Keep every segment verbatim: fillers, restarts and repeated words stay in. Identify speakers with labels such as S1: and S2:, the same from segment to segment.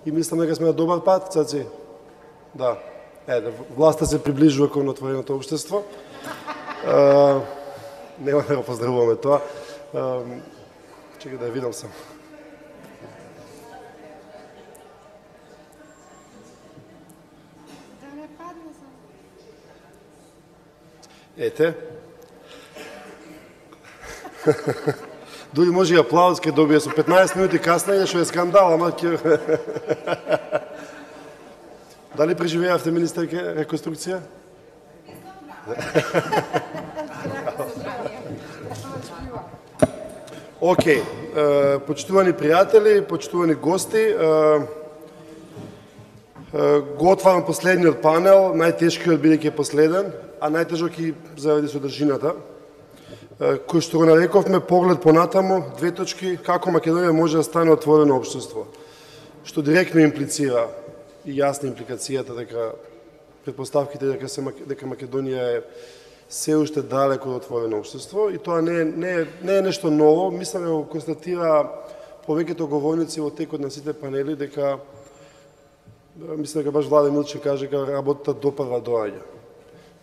S1: и мислам дека сме на добар пат, Цаци. Да. Еде, власта се приближува кон отвореното општество. Uh, нема да го поздравуваме тоа. Uh, чекай да ја видам сам.
S2: Да не падне сам.
S1: Ете. Дури може и аплауз ке добие со петнаесет минути касна, што е скандал, ама ке... Дали преживеавте, министерке, реконструкција? Океј, почитувани пријатели, почитувани гости, го отварам последниот панел, најтешкиот бидејќи е последен, а најтежок и заради содржината, кој што го нарековме поглед понатаму, две точки, како Македонија може да стане отворено општество, што директно имплицира и јасна импликацијата дека предпоставките дека се дека Македонија е се уште далеко од отворено општество, и тоа не е, не е, не е нешто ново. Мислам дека го констатира повеќето говорници во текот на сите панели дека мислам дека баш Владе Милче каже дека работата допрва доаѓа.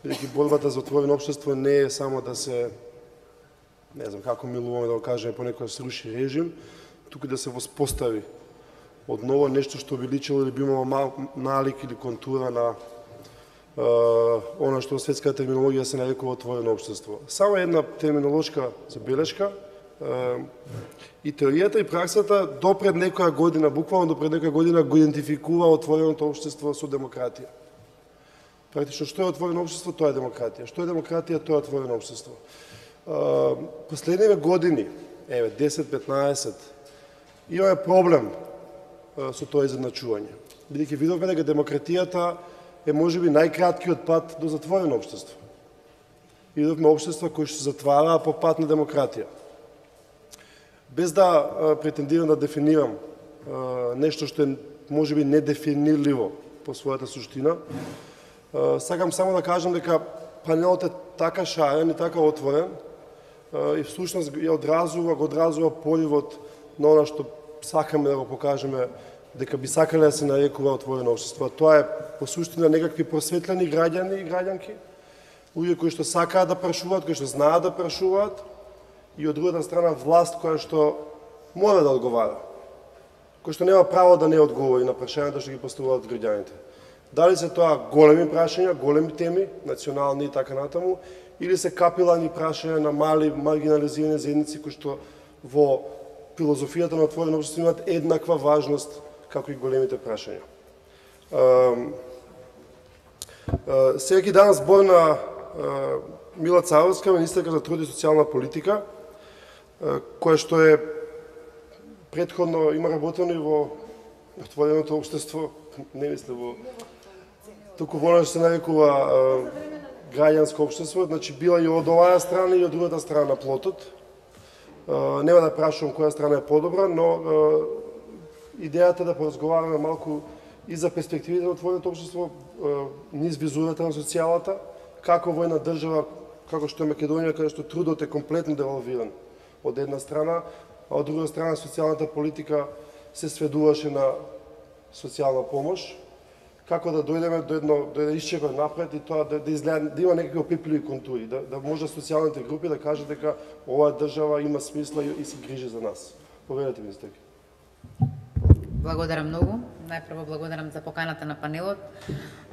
S1: Бидејќи борбата за отворено општество не е само да се, не знам како милуваме да го кажеме, понекогаш сруши режим, туку да се воспостави одново нешто што би личело или би имало мал налик или контура на Uh, она што во светската терминологија се нарекува отворено општество. Само една терминолошка забелешка. Uh, и теоријата и праксата допред некоја година, буквално допред некоја година, го идентификува отвореното општество со демократија. Практично, што е отворено општество, тоа е демократија. Што е демократија, тоа е отворено општество. Uh, последниве години, еве, десет петнаесет, имаме проблем uh, со тоа изедначување. Бидејќи видовме дека демократијата е можеби најкраткиот пат до затворено општество. Идовме општества кои што се затвараа по пат на демократија. Без да а, претендирам да дефинирам а, нешто што е можеби недефинирливо по својата суштина, а, сакам само да кажам дека панелот е така шарен и така отворен а, и всушност ја одразува, го одразува поливот на она што сакаме да го покажеме дека би сакале да се нарекува отворено општество. Тоа е по суштина некакви просветлени граѓани и граѓанки, луѓе кои што сакаат да прашуваат, кои што знаат да прашуваат, и од другата страна власт која што мора да одговара, кој што нема право да не одговори на прашањата што ги поставуваат граѓаните. Дали се тоа големи прашања, големи теми, национални и така натаму, или се капилани прашања на мали маргинализирани заедници кои што во филозофијата на отворено општество имаат еднаква важност како и големите прашања. Секој ден збор на Мила Царовска, министерка за труд и социјална политика, која што е претходно има работено и во отвореното општество, не мислам во туку во што се нарекува граѓанско општество, значи била и од оваа страна и од другата страна на плотот. Нема да прашувам која страна е подобра, но идејата да поразговараме малку и за перспективите на отвореното општество низ визурата на социјалата, како во една држава, како што е Македонија, каде што трудот е комплетно девалвиран од една страна, а од друга страна социјалната политика се сведуваше на социјална помош, како да дојдеме до едно до еден исчекор напред и тоа да, да изгледа да има некакви опипливи контури, да, да може социјалните групи да кажат дека оваа држава има смисла и, и се грижи за нас. Поведете, министерке.
S3: Благодарам многу. Најпрво благодарам за поканата на панелот,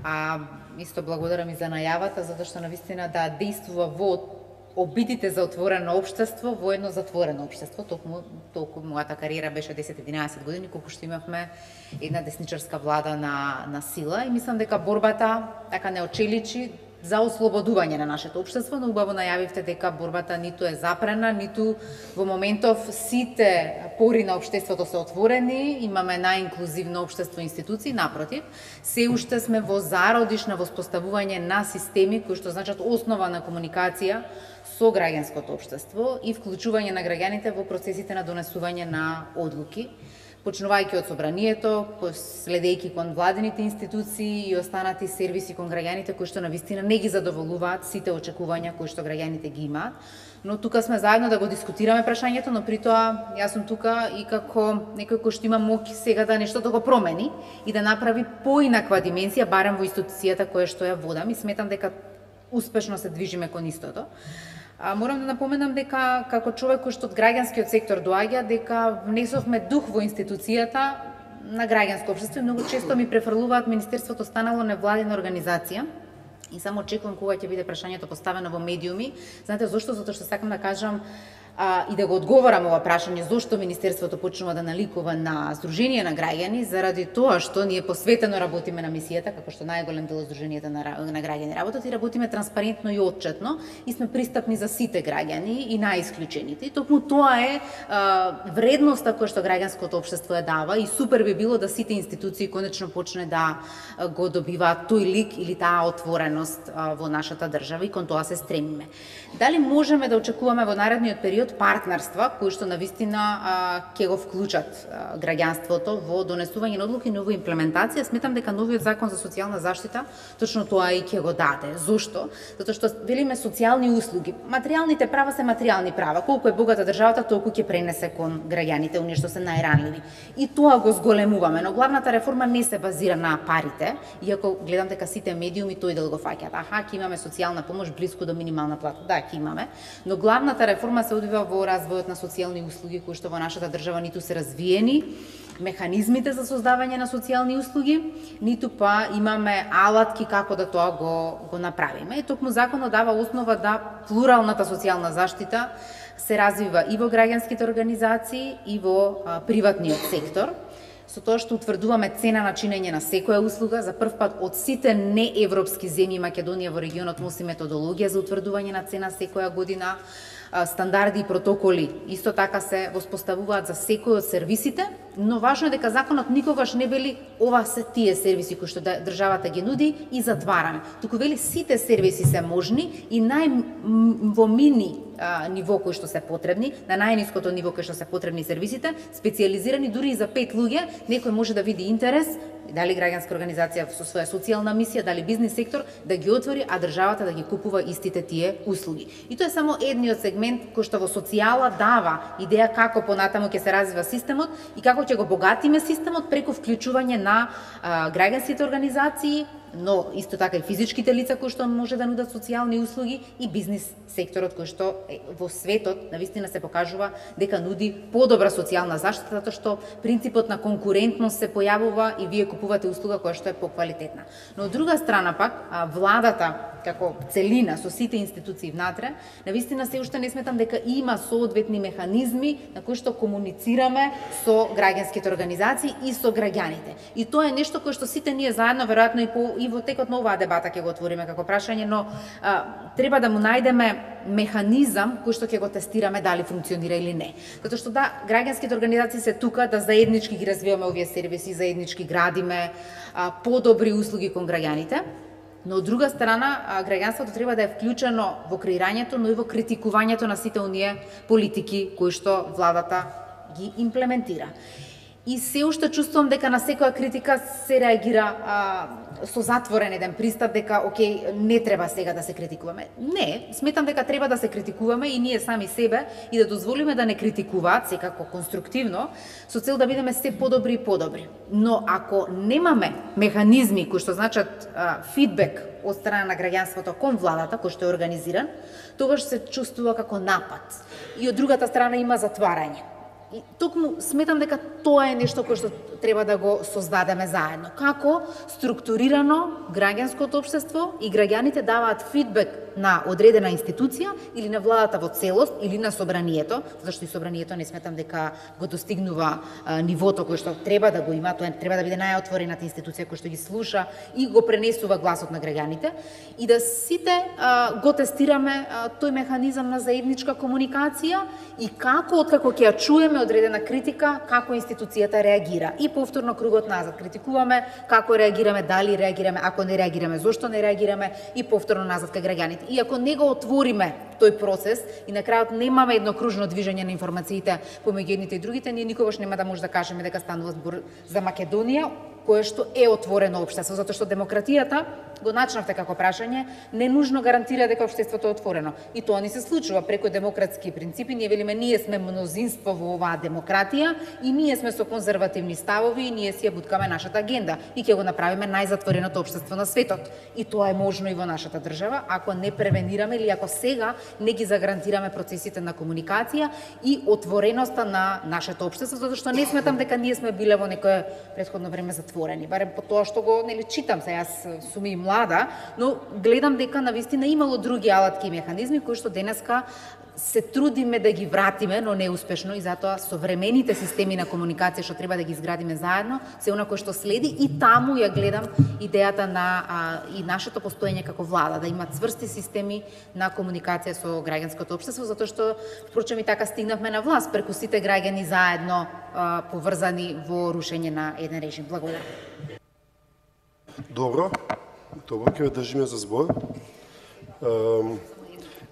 S3: а исто благодарам и за најавата, затоа што навистина да действува во обидите за отворено општество во едно затворено општество. Толку, толку мојата кариера беше десет единаесет години, колку што имавме една десничарска влада на, на сила и мислам дека борбата така не очеличи за ослободување на нашето општество, но убаво најавивте дека борбата ниту е запрена, ниту во моментов сите пори на општеството се отворени, имаме најинклузивно општество и институции, напротив, се уште сме во зародиш на воспоставување на системи кои што значат основа на комуникација со граѓанското општество и вклучување на граѓаните во процесите на донесување на одлуки. почнувајќи од собранието, следејќи кон владините институции и останати сервиси кон граѓаните кои што навистина не ги задоволуваат сите очекувања кои што граѓаните ги имаат. Но тука сме заедно да го дискутираме прашањето, но при тоа јас сум тука и како некој кој што има моќ сега да нешто да го промени и да направи поинаква димензија, барем во институцијата која што ја водам, и сметам дека успешно се движиме кон истото. А, морам да напоменам дека како човек кој што од граѓанскиот сектор доаѓа, дека внесовме дух во институцијата на граѓанско општество и многу често ми префрлуваат Министерството станало невладина организација. И само очекувам кога ќе биде прашањето поставено во медиуми. Знаете зошто? Затоа што сакам да кажам а, и да го одговорам ова прашање зошто Министерството почнува да наликува на Сдружение на граѓани, заради тоа што ние посветено работиме на мисијата, како што најголем дел од Сдруженијата на, на граѓани работат, и работиме транспарентно и отчетно и сме пристапни за сите граѓани и најисклучените. И токму тоа е а, вредноста која што граѓанското општество ја дава и супер би било да сите институции конечно почне да го добиваат тој лик или таа отвореност а, во нашата држава и кон тоа се стремиме. Дали можеме да очекуваме во наредниот период партнерства кои што навистина ќе го вклучат а, граѓанството во донесување на одлуки, но во имплементација? Сметам дека новиот закон за социјална заштита точно тоа и ќе го даде. Зошто? Затоа што велиме социјални услуги. Материјалните права се материјални права. Колку е богата државата, толку ќе пренесе кон граѓаните, оние што се најранливи. И тоа го зголемуваме, но главната реформа не се базира на парите, иако гледам дека сите медиуми тој дел го фаќаат. Аха, ќе имаме социјална помош близко до минимална плата. Да, ќе имаме, но главната реформа се одвива во развојот на социјални услуги кои што во нашата држава ниту се развиени механизмите за создавање на социјални услуги, ниту па имаме алатки како да тоа го го направиме. И токму законот дава основа да плуралната социјална заштита се развива и во граѓанските организации и во а, приватниот сектор, со тоа што утврдуваме цена на чинење на секоја услуга. За прв пат од сите неевропски земји Македонија во регионот носи методологија за утврдување на цена секоја година. Стандарди и протоколи исто така се воспоставуваат за секој од сервисите, но важно е дека законот никогаш не вели ова се тие сервиси кои што државата ги нуди и затвараме. Туку вели сите сервиси се можни и нај во мини а, ниво кои што се потребни, на најниското ниво кои што се потребни сервисите, специјализирани дури и за пет луѓе, некој може да види интерес, дали граѓанска организација со своја социјална мисија, дали бизнис сектор, да ги отвори, а државата да ги купува истите тие услуги. И тоа е само едниот сегмент кој што во социјала дава идеја како понатаму ќе се развива системот и како ќе го богатиме системот преку вклучување на а, граѓанските организации, но исто така и физичките лица кои што може да нудат социјални услуги и бизнис секторот кој што во светот навистина се покажува дека нуди подобра социјална заштита, затоа што принципот на конкурентност се појавува и вие купувате услуга која што е поквалитетна. Но од друга страна пак владата како целина со сите институции внатре, навистина се уште не сметам дека има соодветни механизми на кои што комуницираме со граѓанските организации и со граѓаните. И тоа е нешто кое што сите ние заедно веројатно и по и во текот на оваа дебата ќе го отвориме како прашање, но а, треба да му најдеме механизам кој што ќе го тестираме дали функционира или не. Затоа што да, граѓанските организации се тука да заеднички ги развиваме овие сервиси, заеднички градиме а, подобри услуги кон граѓаните. Но од друга страна, граѓанството треба да е вклучено во креирањето, но и во критикувањето на сите оние политики кои што владата ги имплементира. И се уште чувствувам дека на секоја критика се реагира а, со затворен еден пристап, дека окей, не треба сега да се критикуваме. Не, сметам дека треба да се критикуваме и ние сами себе и да дозволиме да не критикуваат, секако конструктивно, со цел да бидеме се подобри и подобри. Но ако немаме механизми кои што значат а, фидбек од страна на граѓанството кон владата, кој што е организиран, тогаш се чувствува како напад. И од другата страна има затварање. И токму сметам дека тоа е нешто кое што треба да го создадеме заедно. Како структурирано граѓанското општество и граѓаните даваат фидбек на одредена институција или на владата во целост или на собранието, зашто и собранието не сметам дека го достигнува а, нивото кое што треба да го има, тоа треба да биде најотворената институција која што ги слуша и го пренесува гласот на граѓаните и да сите а, го тестираме а, тој механизам на заедничка комуникација и како откако ќе ја чуеме имаме одредена критика како институцијата реагира. И повторно кругот назад критикуваме како реагираме, дали реагираме, ако не реагираме, зошто не реагираме и повторно назад кај граѓаните. И ако не го отвориме тој процес и на крајот немаме едно кружно движење на информациите помеѓу едните и другите, ние никогаш нема да може да кажеме дека станува збор за Македонија, кое што е отворено општество, затоа што демократијата, го начнавте како прашање, не нужно гарантира дека општеството е отворено. И тоа ни се случува преку демократски принципи. Ние велиме, ние сме мнозинство во оваа демократија и ние сме со конзервативни ставови и ние си ја буткаме нашата агенда и ќе го направиме најзатвореното општество на светот. И тоа е можно и во нашата држава, ако не превенираме или ако сега не ги загарантираме процесите на комуникација и отвореноста на нашето општество, затоа што не сметам дека ние сме биле во некое претходно време затворени. Барем по тоа што го нели читам, се јас сум и млада, но гледам дека навистина имало други алатки и механизми кои што денеска се трудиме да ги вратиме, но неуспешно, и затоа современите системи на комуникација што треба да ги изградиме заедно, се она кој што следи, и таму ја гледам идејата на а, и нашето постоење како влада, да има цврсти системи на комуникација со граѓанското општество, затоа што впрочем и така стигнавме на власт преку сите граѓани заедно а, поврзани во рушење на еден режим. Благодарам.
S1: Добро, добро, ќе ве држиме за збор. Um...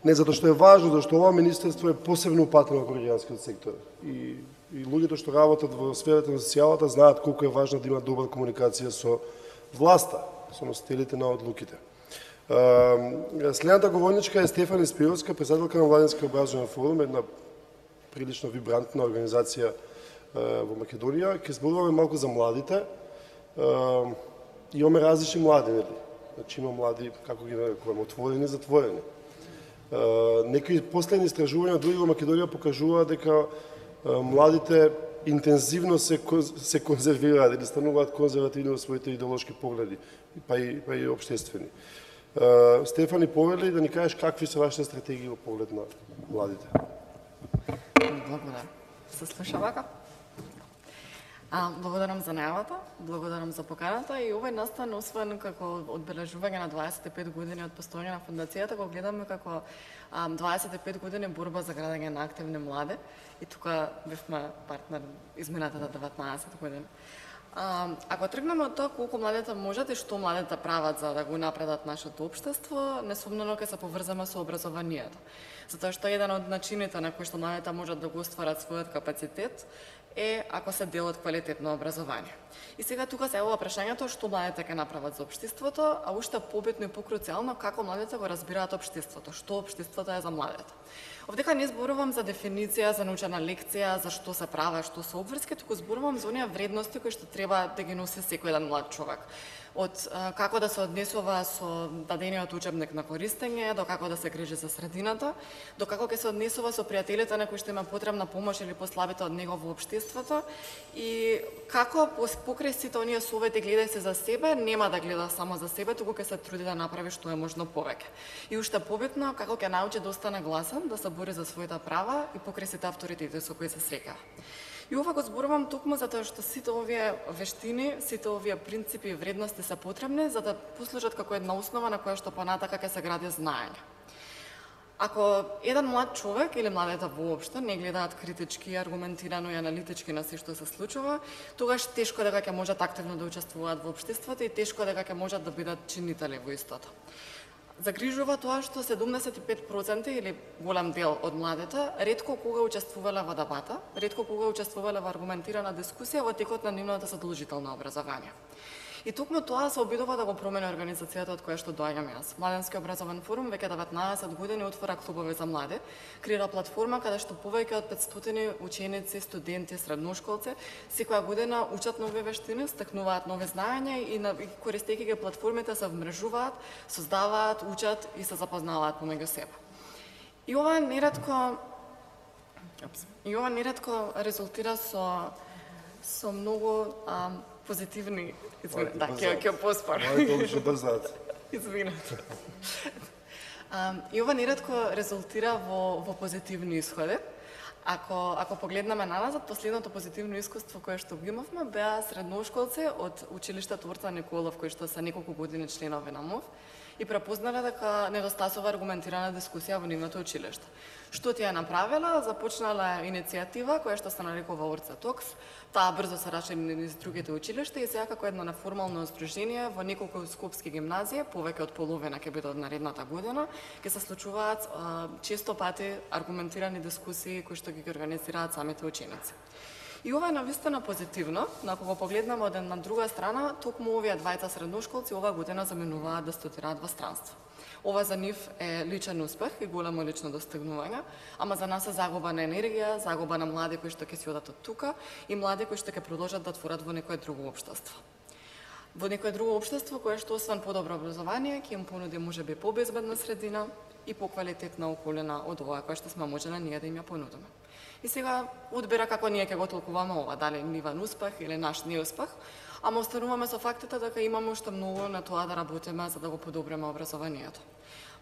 S1: Не затоа што е важно, зашто ова министерство е посебно упатено во граѓанскиот сектор. И, и луѓето што работат во сферата на социјалата знаат колку е важно да има добра комуникација со власта, со носителите на одлуките. Следната говорничка е Стефани Спировска, председателка на Младински образовен форум, една прилично вибрантна организација во Македонија. Ќе зборуваме малку за младите. Имаме различни млади, нели? Значи има млади, како ги нарекуваме, отворени и затворени. Uh, некои последни истражувања други во Македонија покажуваат дека uh, младите интензивно се, се конзервираат или стануваат конзервативни во своите идеолошки погледи, па и, па и обштествени. Uh, Стефани, повели да ни кажеш какви се вашите стратегии во поглед на младите?
S2: Благодарам. Се слуша вака? А, благодарам за најавата, благодарам за поканата и овој настан, освен како одбележување на дваесет и пет години од постоење на фондацијата, го гледаме како а, дваесет и пет години борба за градење на активни млади и тука бевме партнер изминатата деветнаесет години. А, ако тргнеме од тоа колку младите можат и што младите прават за да го напредат нашето општество, несумнено ќе се поврзаме со образованието. Затоа што еден од начините на кои што младите можат да го остварат својот капацитет е ако се дел од квалитетно образование. И сега тука се ова прашањето што младите ќе направат за општеството, а уште побитно и покруцијално како младите го разбираат општеството, што општеството е за младите. Овдека не зборувам за дефиниција, за научена лекција, за што се права, што се обврски, туку зборувам за оние вредности кои што треба да ги носи секој еден млад човек. Од а, како да се однесува со дадениот учебник на користење, до како да се грижи за средината, до како ќе се однесува со пријателите на кои што има потребна помош или послабите од него во општеството, и како покрај сите оние совети гледај се за себе, нема да гледа само за себе, туку ќе се труди да направи што е можно повеќе. И уште побитно, како ќе научи да остане гласен, да се бори за своите права и покрај сите авторитети со кои се среќа. И ова го зборувам токму затоа што сите овие вештини, сите овие принципи и вредности се потребни за да послужат како една основа на која што понатака ќе се гради знаење. Ако еден млад човек или младите воопшто не гледаат критички, аргументирано и аналитички на се што се случува, тогаш тешко дека ќе можат активно да учествуваат во општеството и тешко дека ќе можат да бидат чинители во истото. Загрижува тоа што седумдесет и пет проценти или голем дел од младите ретко кога учествувале во дебата, ретко кога учествувале во аргументирана дискусија во текот на нивното задолжително образование. И токму тоа се обидува да го промени организацијата од која што доаѓам јас. Младински образовен форум веќе деветнаесет години отвора клубови за млади, креира платформа каде што повеќе од петстотини ученици, студенти, средношколци секоја година учат нови вештини, стекнуваат нови знаења и, на, и користејќи ги платформите се вмрежуваат, создаваат, учат и се запознаваат помеѓу себе. И ова неретко и ова неретко резултира со со многу а, позитивни, извинете, да, ќе ќе поспор.
S1: Моите обично брзаат.
S2: Извинете. И ова неретко резултира во во позитивни исходи. Ако ако погледнеме наназад, последното позитивно искуство кое што го имавме беа средношколци од училиштето Орца Николов, кои што се неколку години членови на МОВ. и препознале дека недостасува аргументирана дискусија во нивното училиште. Што тие направила? Започнала иницијатива која што се нарекува Орца Токс. Таа брзо се рашири низ другите училишта и сега како едно неформално здружение во неколку скопски гимназии, повеќе од половина ќе биде од наредната година, ќе се случуваат а, често пати аргументирани дискусии кои што ги организираат самите ученици. И ова е навистина позитивно, но ако го погледнеме од една друга страна, токму овие двајца средношколци оваа година заменуваат да студираат во странство. Ова за нив е личен успех и големо лично достигнување, ама за нас е загуба на енергија, загуба на млади кои што ќе си одат од тука и млади кои што ќе продолжат да творат во некое друго општество. Во некое друго општество кое што освен подобро образование ќе им понуди можеби побезбедна средина и поквалитетна околина од оваа која што сме можеле ние да им ја понудиме. И сега одбира како ние ќе го толкуваме ова, дали нивен успех или наш неуспех, ама остануваме со фактите дека имаме уште многу на тоа да работиме за да го подобриме образованието.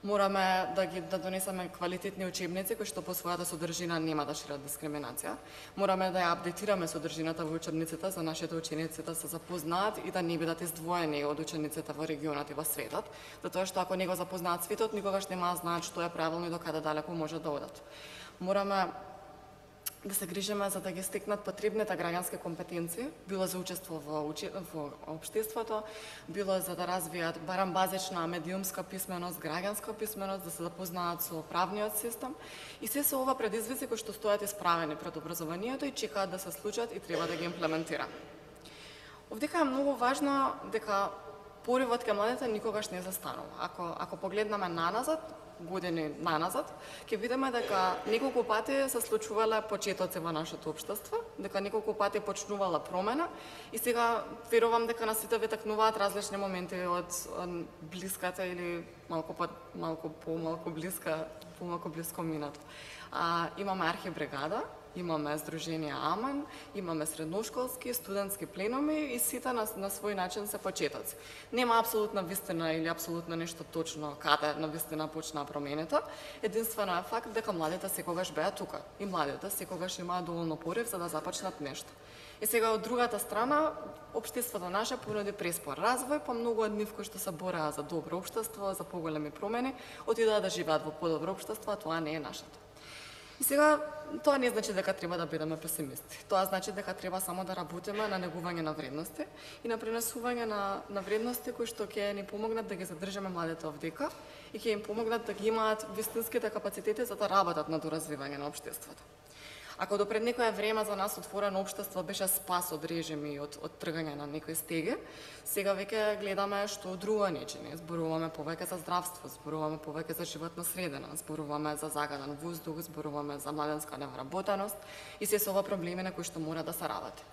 S2: Мораме да ги да донесеме квалитетни учебници кои што по својата содржина нема да шират дискриминација. Мораме да ја апдейтираме содржината во учебниците за нашите ученици да се запознаат и да не бидат издвоени од учениците во регионот и во светот, затоа што ако не го запознаат светот, никогаш нема да знаат што е правилно и до каде далеко може да одат. Мораме да се грижиме за да ги стекнат потребните граѓански компетенции, било за учество во, учи... во општеството, било за да развијат барем базична медиумска писменост, граѓанска писменост, да се запознаат со правниот систем. И се се ова предизвици кои што стојат исправени пред образованието и чекаат да се случат и треба да ги имплементира. Овдека е многу важно дека поривот кај младите никогаш не застанува. Ако, ако погледнеме наназад, години наназад, ќе видиме дека неколку пати се случувале почетоци во нашето општество, дека неколку пати почнувала промена и сега верувам дека на сите ви такнуваат различни моменти од, од блиската или малку по малку помалку блиска, помалку блиско минато. А, имаме архибригада, имаме Сдружение Аман, имаме средношколски, студентски пленуми и сите на, на свој начин се почетоци. Нема апсолутна вистина или апсолутно нешто точно каде на вистина почнаа промените. Единствено е факт дека младите секогаш беа тука и младите секогаш имаат доволно порив за да започнат нешто. И сега од другата страна, општеството наше понуди преспор развој, па многу од нив кои што се бореа за добро општество, за поголеми промени, отидоа да живеат во подобро општество, а тоа не е нашето. И сега, тоа не значи дека треба да бидеме песимисти. Тоа значи дека треба само да работиме на негување на вредности и на пренесување на, на вредности кои што ќе ни помогнат да ги задржиме младите овдека и ќе им помогнат да ги имаат вистинските капацитети за да работат на доразвивање на општеството. Ако до пред некое време за нас отворено општество беше спас од режими и од, од тргање на некои стеги, сега веќе гледаме што друго не чини. Зборуваме повеќе за здравство, зборуваме повеќе за животна средина, зборуваме за загаден воздух, зборуваме за младенска невработеност и се со ова проблеми на кои што мора да се работи.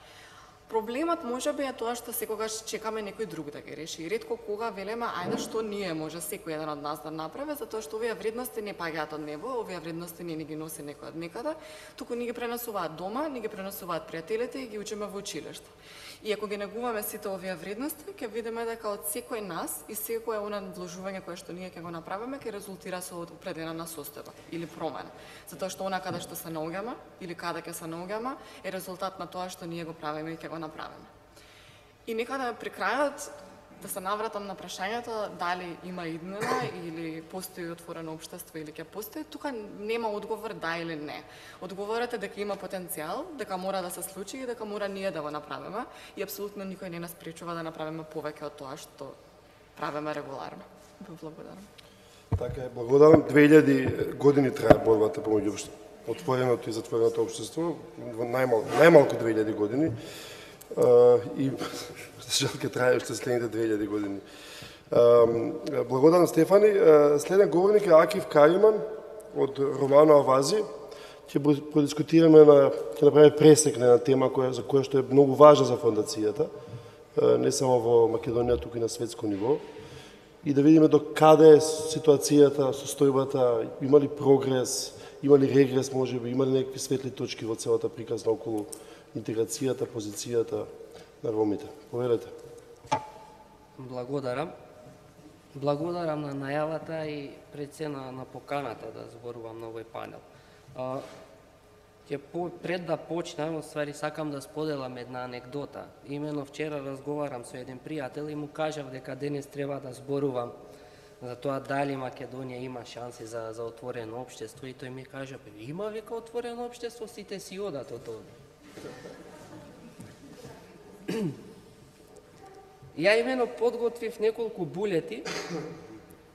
S2: Проблемот можеби е тоа што секогаш чекаме некој друг да ги реши. И ретко кога велеме, ајде што ние може секој еден од нас да направи, затоа што овие вредности не паѓаат од небо, овие вредности не ни ги носи некој од некаде, туку ни ги пренесуваат дома, ни ги пренесуваат пријателите и ги учиме во училиште. И ако ги негуваме сите овие вредности, ќе видиме дека од секој нас и секое она вложување кое што ние ќе го направиме ќе резултира со определена состојба или промена. Затоа што она каде што се наоѓаме или каде ќе се наоѓаме е резултат на тоа што ние го правиме и ќе го направиме. И некаде при крајот да се навратам на прашањето дали има иднина или постои отворено општество или ќе постои, тука нема одговор да или не. Одговорот е дека има потенцијал, дека мора да се случи и дека мора ние да го направиме и апсолутно никој не нас пречува да направиме повеќе од тоа што правиме регуларно. Благодарам.
S1: Така е, благодарам. две илјади години трае борбата помеѓу отвореното и затвореното општество, најмалку, најмалку две илјади години. Uh, и жал ке трае уште следните две илјади години. Uh, благодарам Стефани. Uh, следен говорник е Акиф Кариман од Романо Авази. Ќе продискутираме на ќе направиме пресек на тема која за која што е многу важна за фондацијата, uh, не само во Македонија, туку и на светско ниво. И да видиме до каде е ситуацијата, состојбата, има ли прогрес, има ли регрес, можеби, има ли некакви светли точки во целата приказна околу интеграцијата, позицијата на ромите. Повелете.
S4: Благодарам. Благодарам на најавата и пред се на, на поканата да зборувам на овој панел. А, ќе по, пред да почнам, оствари сакам да споделам една анекдота. Имено вчера разговарам со еден пријател и му кажав дека денес треба да зборувам за тоа дали Македонија има шанси за, за отворено општество и тој ми кажа, има века отворено општество, сите си одат од овде. Ја имено подготвив неколку булети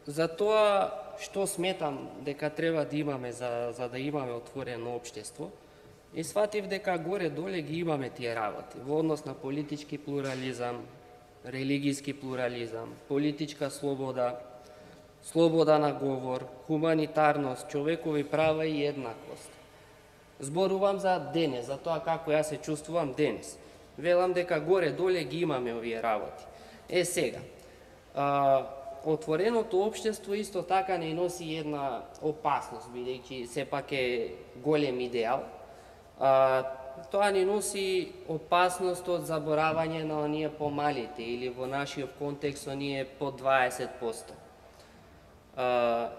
S4: за тоа што сметам дека треба да имаме за, за да имаме отворено општество и сватив дека горе-доле ги имаме тие работи во однос на политички плурализам, религијски плурализам, политичка слобода, слобода на говор, хуманитарност, човекови права и еднаквост. Зборувам за денес, за тоа како ја се чувствувам денес. Велам дека горе-доле ги имаме овие работи. Е сега, а, отвореното општество исто така не носи една опасност, бидејќи сепак е голем идеал. А, тоа не носи опасност од заборавање на оние помалите или во нашиот контекст оние по дваесет проценти. А,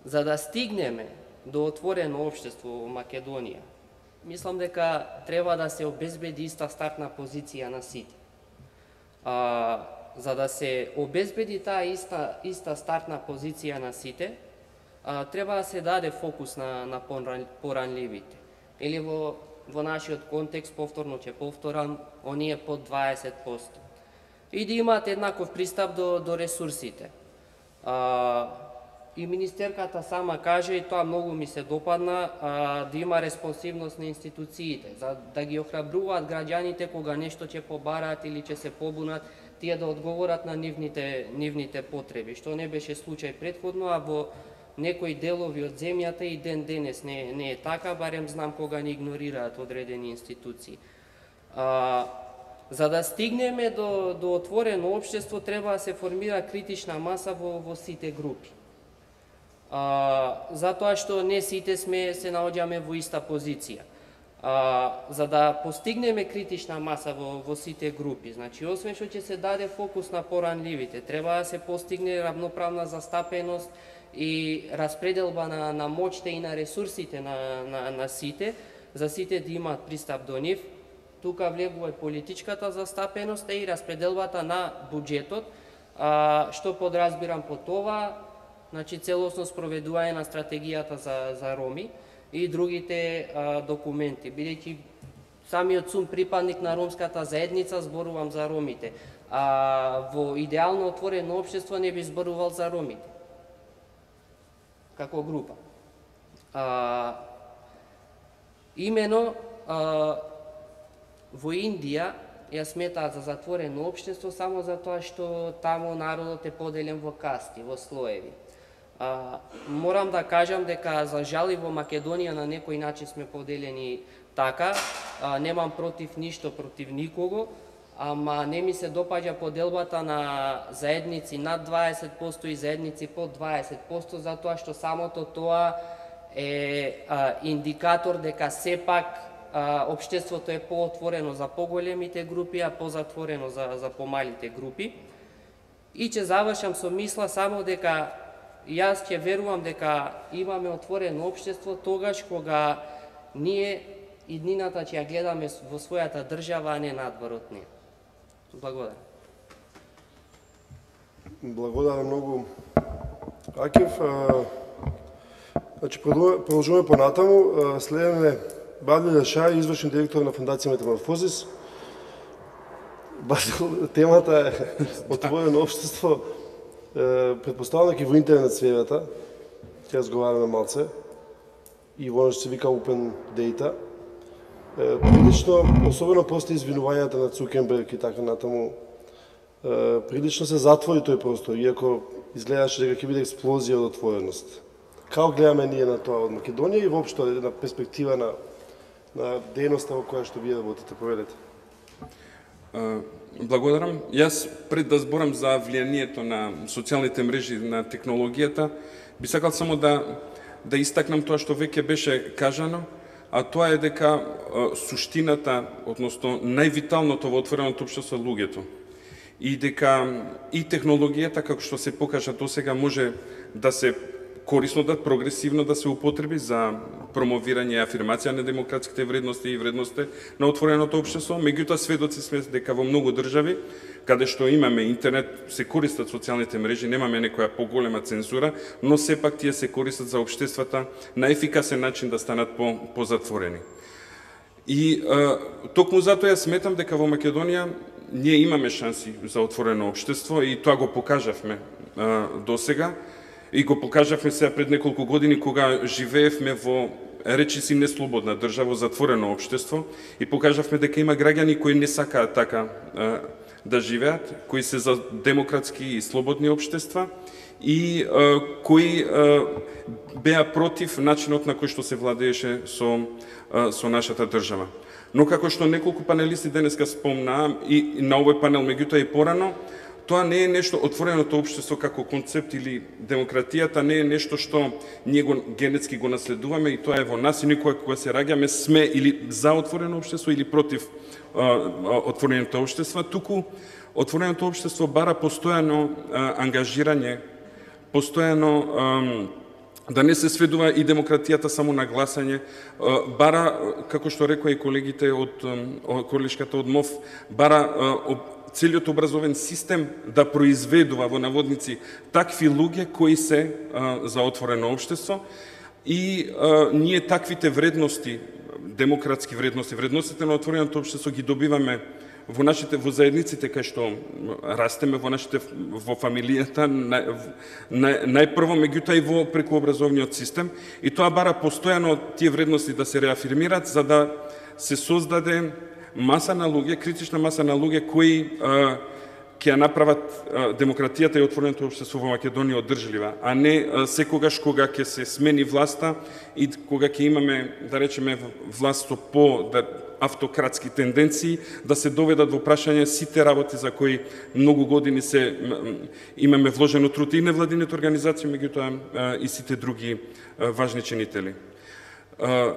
S4: за да стигнеме до отворено општество во Македонија, мислам дека треба да се обезбеди иста стартна позиција на сите. А, за да се обезбеди таа иста, иста стартна позиција на сите, а, треба да се даде фокус на, на поранливите. Или во, во нашиот контекст, повторно ќе повторам, оние под дваесет проценти. И да имаат еднаков пристап до, до ресурсите. А, и министерката сама каже, и тоа многу ми се допадна, а, да има респонсивност на институциите, за да ги охрабруваат граѓаните кога нешто ќе побараат или ќе се побунат, тие да одговорат на нивните, нивните потреби, што не беше случај предходно, а во некои делови од земјата и ден денес не, не е така, барем знам кога ни игнорираат одредени институции. А, за да стигнеме до, до отворено општество, треба да се формира критична маса во, во сите групи. А, затоа што не сите сме се наоѓаме во иста позиција. А, за да постигнеме критична маса во, во сите групи, значи, освен што ќе се даде фокус на поранливите, треба да се постигне равноправна застапеност и распределба на, на моќта и на ресурсите на, на, на сите, за сите да имаат пристап до нив. Тука влегува и политичката застапеност и распределбата на буџетот, а, што подразбирам по това, значи целосно спроведување на стратегијата за, за роми и другите а, документи. Бидејќи самиот сум припадник на ромската заедница, зборувам за ромите. А во идеално отворено општество не би зборувал за ромите како група. А, имено а, во Индија ја сметаат за затворено општество само затоа што таму народот е поделен во касти, во слоеви. А, морам да кажам дека за жал и во Македонија на некој начин сме поделени така, а, немам против ништо против никого, ама не ми се допаѓа поделбата на заедници над дваесет проценти и заедници под дваесет проценти, затоа што самото тоа е а, индикатор дека сепак а, општеството е поотворено за поголемите групи, а позатворено за, за помалите групи. И ќе завршам со мисла само дека јас ќе верувам дека имаме отворено општество тогаш кога ние иднината ќе ја гледаме во својата држава, а не надвор од неја. Благодарам.
S1: Благодарам многу, Акев. Значи, продолжуваме понатаму. Следеме Бадил Јашај, извршен директор на Фондација Метаморфозис. Бадил, темата е отворено општество. Предпоставам дека во интернет сферата, ќе разговараме малце, и во што се вика Open Data. Прилично, особено после извинувањата на Цукерберг и така натаму, прилично се затвори тој простор, иако изгледаше дека ќе биде експлозија од отвореност. Како гледаме ние на тоа од Македонија и воопшто една перспектива на, на дејноста во која што вие работите, проведете?
S5: Благодарам. Јас пред да зборам за влијанието на социјалните мрежи на технологијата, би сакал само да да истакнам тоа што веќе беше кажано, а тоа е дека суштината, односно највиталното во отвореното општество е луѓето. И дека и технологијата, како што се покажа досега, може да се корисно да прогресивно да се употреби за промовирање и афирмација на демократските вредности и вредности на отвореното општество. Меѓутоа, сведоци сме дека во многу држави, каде што имаме интернет, се користат социјалните мрежи, немаме некоја поголема цензура, но сепак тие се користат за општествата на ефикасен начин да станат по, позатворени. И а, токму затоа ја сметам дека во Македонија ние имаме шанси за отворено општество и тоа го покажавме а, досега. И го покажавме сега пред неколку години кога живеевме во речиси неслободна држава, затворено општество, и покажавме дека има граѓани кои не сакаат така а, да живеат, кои се за демократски и слободни општества и а, кои а, беа против начинот на кој што се владееше со, а, со нашата држава. Но како што неколку панелисти денеска спомнаа и на овој панел, меѓутоа и порано, тоа не е нешто, отвореното општество како концепт или демократијата не е нешто што ние го генетски го наследуваме и тоа е во нас и никога кога се раѓаме сме или за отворено општество или против а, отвореното општество, туку отвореното општество бара постојано а, ангажирање, постојано а, да не се сведува и демократијата само на гласање, а, бара, како што рекоа и колегите од колешката од МОВ, бара а, целиот образовен систем да произведува во наводници такви луѓе кои се а, за отворено општество и а, ние таквите вредности, демократски вредности, вредностите на отвореното општество ги добиваме во нашите во заедниците кај што растеме, во нашите во фамилијата, нај, нај, најпрво, меѓутоа и во преку образовниот систем, и тоа бара постојано тие вредности да се реафирмираат за да се создаде маса на луѓе, критична маса на луѓе кои а, ќе ја направат а, демократијата и отвореното општество во Македонија одржлива, а не а, секогаш кога ќе се смени власта и кога ќе имаме, да речеме, власт со по да, автократски тенденции, да се доведат во прашање сите работи за кои многу години се имаме вложено труд и невладините организации, меѓутоа и сите други а, важни чинители. А,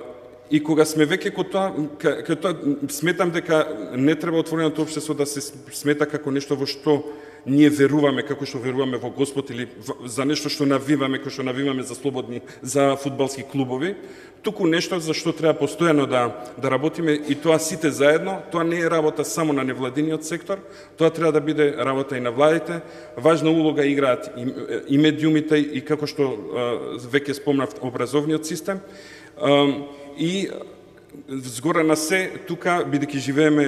S5: И кога сме веќе кај тоа, кај тоа, сметам дека не треба отвореното општество да се смета како нешто во што ние веруваме, како што веруваме во Господ или за нешто што навиваме, како што навиваме за слободни, за фудбалски клубови, туку нешто за што треба постојано да, да работиме и тоа сите заедно. Тоа не е работа само на невладиниот сектор, тоа треба да биде работа и на владите. Важна улога играат и, и медиумите и како што веќе спомнав образовниот систем. И згора на се, тука, бидејќи живееме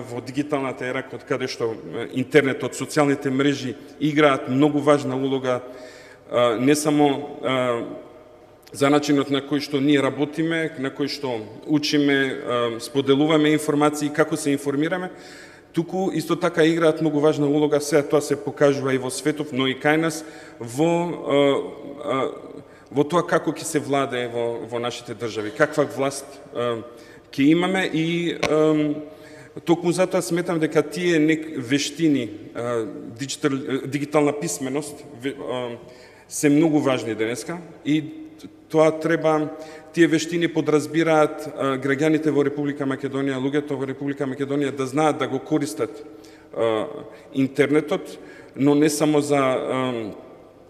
S5: во дигиталната ера, од каде што интернетот, социјалните мрежи играат многу важна улога, не само за начинот на кој што ние работиме, на кој што учиме, споделуваме информации, како се информираме, туку исто така играат многу важна улога, сега тоа се покажува и во светов, но и кај нас, во во тоа како ќе се владее во, во нашите држави, каква власт е, ќе имаме и е, токму затоа сметам дека тие нек вештини, е, дигитал, дигитална писменост е, се многу важни денеска и тоа треба, тие вештини подразбираат е, граѓаните во Република Македонија, луѓето во Република Македонија да знаат да го користат е, интернетот, но не само за е,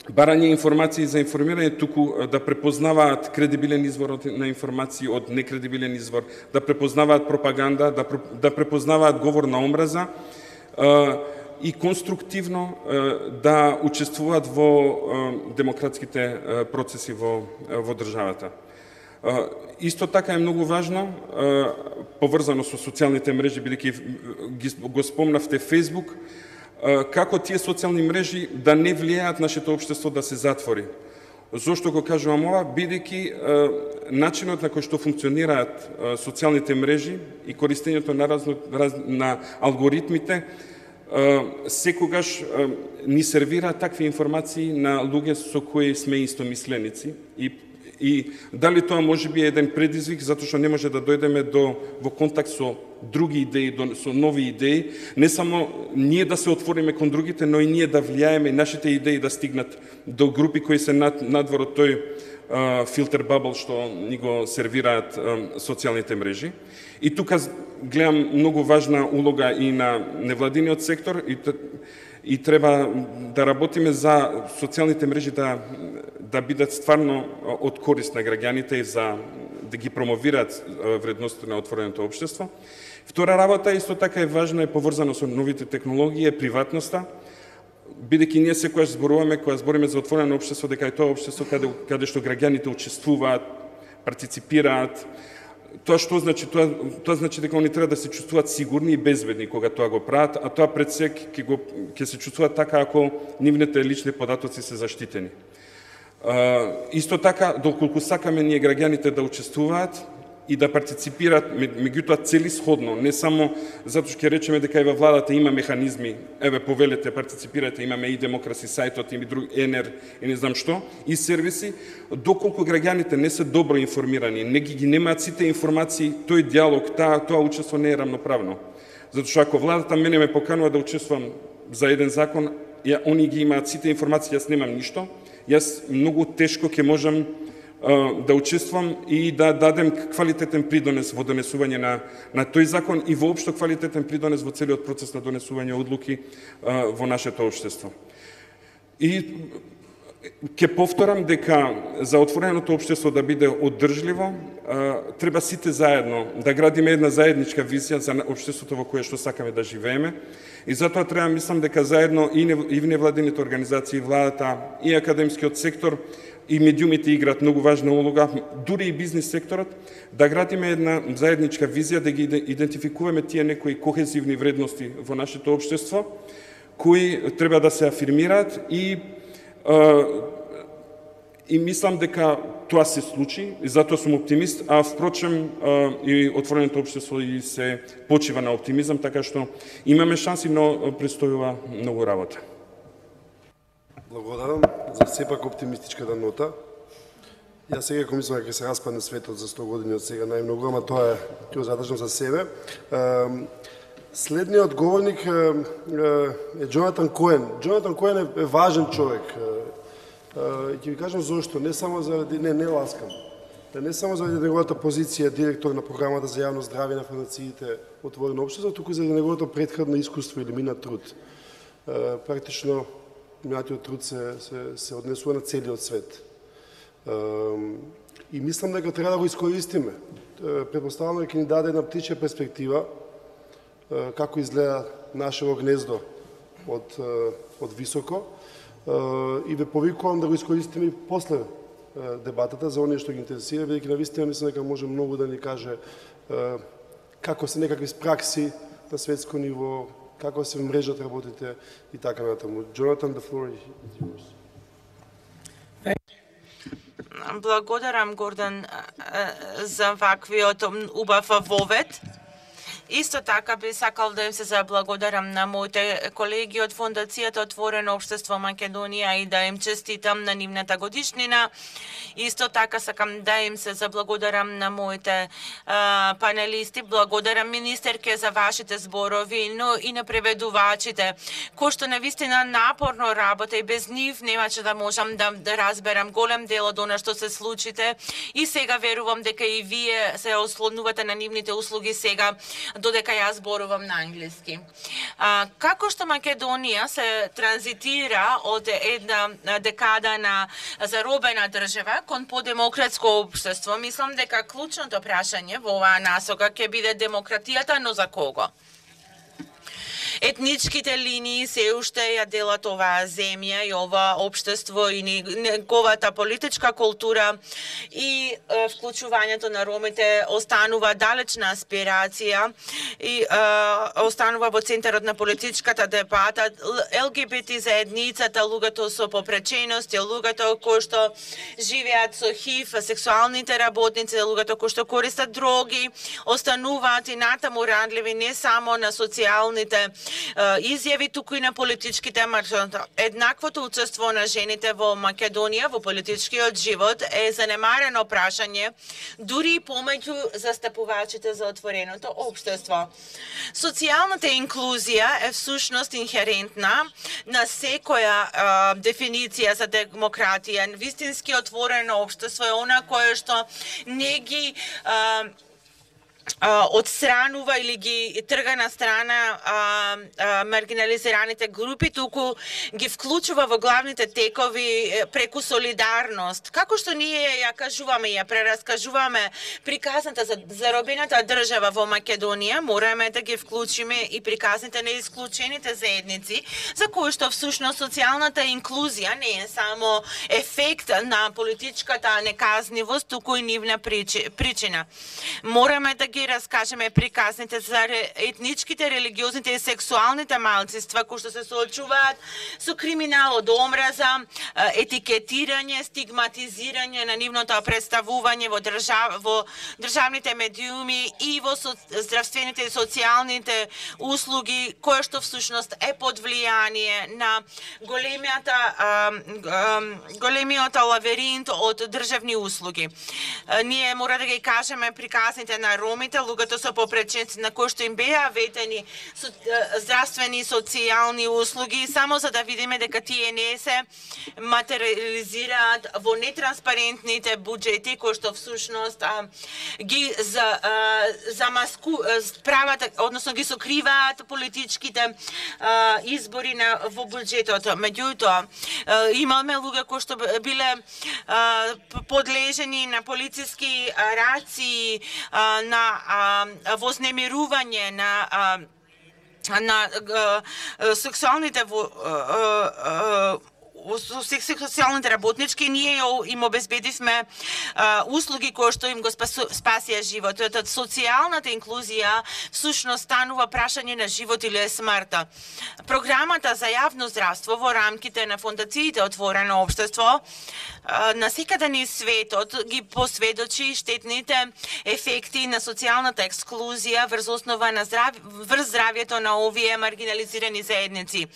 S5: барање информации за информирање, туку да препознаваат кредибилен извор на информации од некредибилен извор, да препознаваат пропаганда, да, да препознаваат говор на омраза и конструктивно да учествуваат во демократските процеси во, во државата. Исто така е многу важно, поврзано со социјалните мрежи, бидејќи го спомнавте Facebook, како тие социјални мрежи да не влијаат нашето општество да се затвори. Зошто го кажувам ова? Бидејќи начинот на кој што функционираат социјалните мрежи и користењето на, разно, раз, на алгоритмите секогаш ни сервираат такви информации на луѓе со кои сме истомисленици и И дали тоа може би е еден предизвик, затоа што не може да дојдеме до, во контакт со други идеи, до, со нови идеи, не само ние да се отвориме кон другите, но и ние да влијаеме и нашите идеи да стигнат до групи кои се над, надвор од тој а, филтер бабл што ни го сервираат а, социјалните мрежи. И тука гледам многу важна улога и на невладиниот сектор и, и треба да работиме за социјалните мрежи да, да бидат стварно од корист на граѓаните и за да ги промовираат вредностите на отвореното општество. Втора работа исто така е важна и поврзана со новите технологии, е приватноста, бидејќи ние секогаш зборуваме, кога збориме за отворено општество, дека е тоа општество каде, каде што граѓаните учествуваат, партиципираат. Тоа што значи? Тоа, тоа значи дека они треба да се чувствуваат сигурни и безбедни кога тоа го прават, а тоа пред се ќе го ќе се чувствуваат така ако нивните лични податоци се заштитени. Uh, исто така, доколку сакаме ние граѓаните да учествуваат и да партиципираат, меѓутоа целисходно, не само затоа што ќе речеме дека и во владата има механизми, еве повелете, партиципирате, имаме и демокраси сајтот, и друг ЕНЕР, и не знам што, и сервиси, доколку граѓаните не се добро информирани, не ги, ги немаат сите информации, тој диалог, таа, тоа учество не е равноправно. Затоа што ако владата мене ме поканува да учествувам за еден закон, ја, они ги имаат сите информации, јас немам ништо, јас многу тешко ќе можам uh, да учествувам и да дадем квалитетен придонес во донесување на, на тој закон и воопшто квалитетен придонес во целиот процес на донесување одлуки uh, во нашето општество. И ќе повторам дека за отвореното општество да биде одржливо, uh, треба сите заедно да градиме една заедничка визија за општеството во кое што сакаме да живееме. И затоа треба, мислам дека заедно и невладините организации, владата, и академскиот сектор, и медиумите играат многу важна улога, дури и бизнис секторот, да градиме една заедничка визија, да ги идентификуваме тие некои кохезивни вредности во нашето општество, кои треба да се афирмираат и и мислам дека тоа се случи, и затоа сум оптимист, а впрочем и отвореното општество и се почива на оптимизам, така што имаме шанси, но престојува многу работа.
S1: Благодарам за сепак оптимистичката нота. Јас сега ако мислам дека се распадне светот за сто години од сега најмногу, ама тоа е ќе го задржам за себе. Следниот говорник е Джонатан Коен. Джонатан Коен е важен човек. И ќе ви кажам зошто, не само заради, не, не ласкам, не само заради неговата позиција директор на програмата за јавно здравје на фондациите Отворено општество, туку заради неговото претходно искуство или минат труд. Практично, минатиот труд се, се, се однесува на целиот свет. И мислам дека треба да го искористиме. Предпоставам дека ни даде една птичја перспектива како изгледа нашето гнездо од, од високо, и ве повикувам да го искористиме и после дебатата за оние што ги интересира, бидејќи навистина мислам дека може многу да ни каже како се некакви пракси на светско ниво, како се мрежат работите и така натаму. Jonathan, the floor is yours.
S6: Благодарам, Гордан, за ваквиот убав вовед. Исто така би сакал да им се заблагодарам на моите колеги од Фондацијата Отворено општество Македонија и да им честитам на нивната годишнина. Исто така сакам да им се заблагодарам на моите а, панелисти. Благодарам министерке за вашите зборови, но и на преведувачите, кои што навистина напорно работа и без нив немаше да можам да, да разберам голем дел од она што се случите. И сега верувам дека и вие се ослонувате на нивните услуги сега, додека јас зборувам на англиски. А, како што Македонија се транзитира од една декада на заробена држава кон подемократско општество, мислам дека клучното прашање во оваа насока ќе биде демократијата, но за кого? Етничките линии се уште ја делат оваа земја и ова општество и неговата политичка култура и е, вклучувањето на ромите останува далечна аспирација и е, останува во центарот на политичката дебата. Ел Ге Би Ти заедницата, луѓето со попречености, луѓето кои што живеат со Х И В, сексуалните работници, луѓето кои што користат дроги, остануваат и натаму рандливи не само на социјалните изјави, туку и на политичките маршрути. Еднаквото учество на жените во Македонија во политичкиот живот е занемарено прашање, дури и помеѓу застапувачите за отвореното општество. Социјалната инклузија е всушност инхерентна на секоја а, дефиниција за демократија. Вистински отворено општество е она кое што не ги а, одстранува или ги трга на страна а, а, маргинализираните групи, туку ги вклучува во главните текови преку солидарност. Како што ние ја кажуваме, ја прераскажуваме приказната за заробената држава во Македонија, мораме да ги вклучиме и приказните на исклучените заедници, за кои што всушност социјалната инклузија не е само ефект на политичката неказнивост, туку и нивна причина. Мораме да ги раскажеме приказните за етничките, религиозните и сексуалните малцинства кои што се соочуваат со криминал од омраза, етикетирање, стигматизирање на нивното представување во држав, во државните медиуми и во со, здравствените и социјалните услуги, кое што всушност е под влијание на големијата големиот лавиринт од државни услуги. Ние мора да ги кажеме приказните на ромите, луѓето со попреченци на кои што им беа ветени со, здравствени и социјални услуги, само за да видиме дека тие не се материализираат во нетранспарентните буџети кои што всушност а, ги за а, замаску прават, односно ги сокриваат политичките а, избори на во буџетот. Меѓутоа имаме луѓе кои што биле а, подлежени на полициски раци, а, на а, вознемирување, на а, на а, сексуалните во, а, а, социјалните работнички, ние им обезбедивме а, услуги кои што им го спасија животот. Социјалната инклузија всушност станува прашање на живот или смртта. Програмата за јавно здравство во рамките на фондациите Отворено општество на секаде низ светот ги посведочи штетните ефекти на социјалната ексклузија врз основа на здрав... врз здравјето на овие маргинализирани заедници.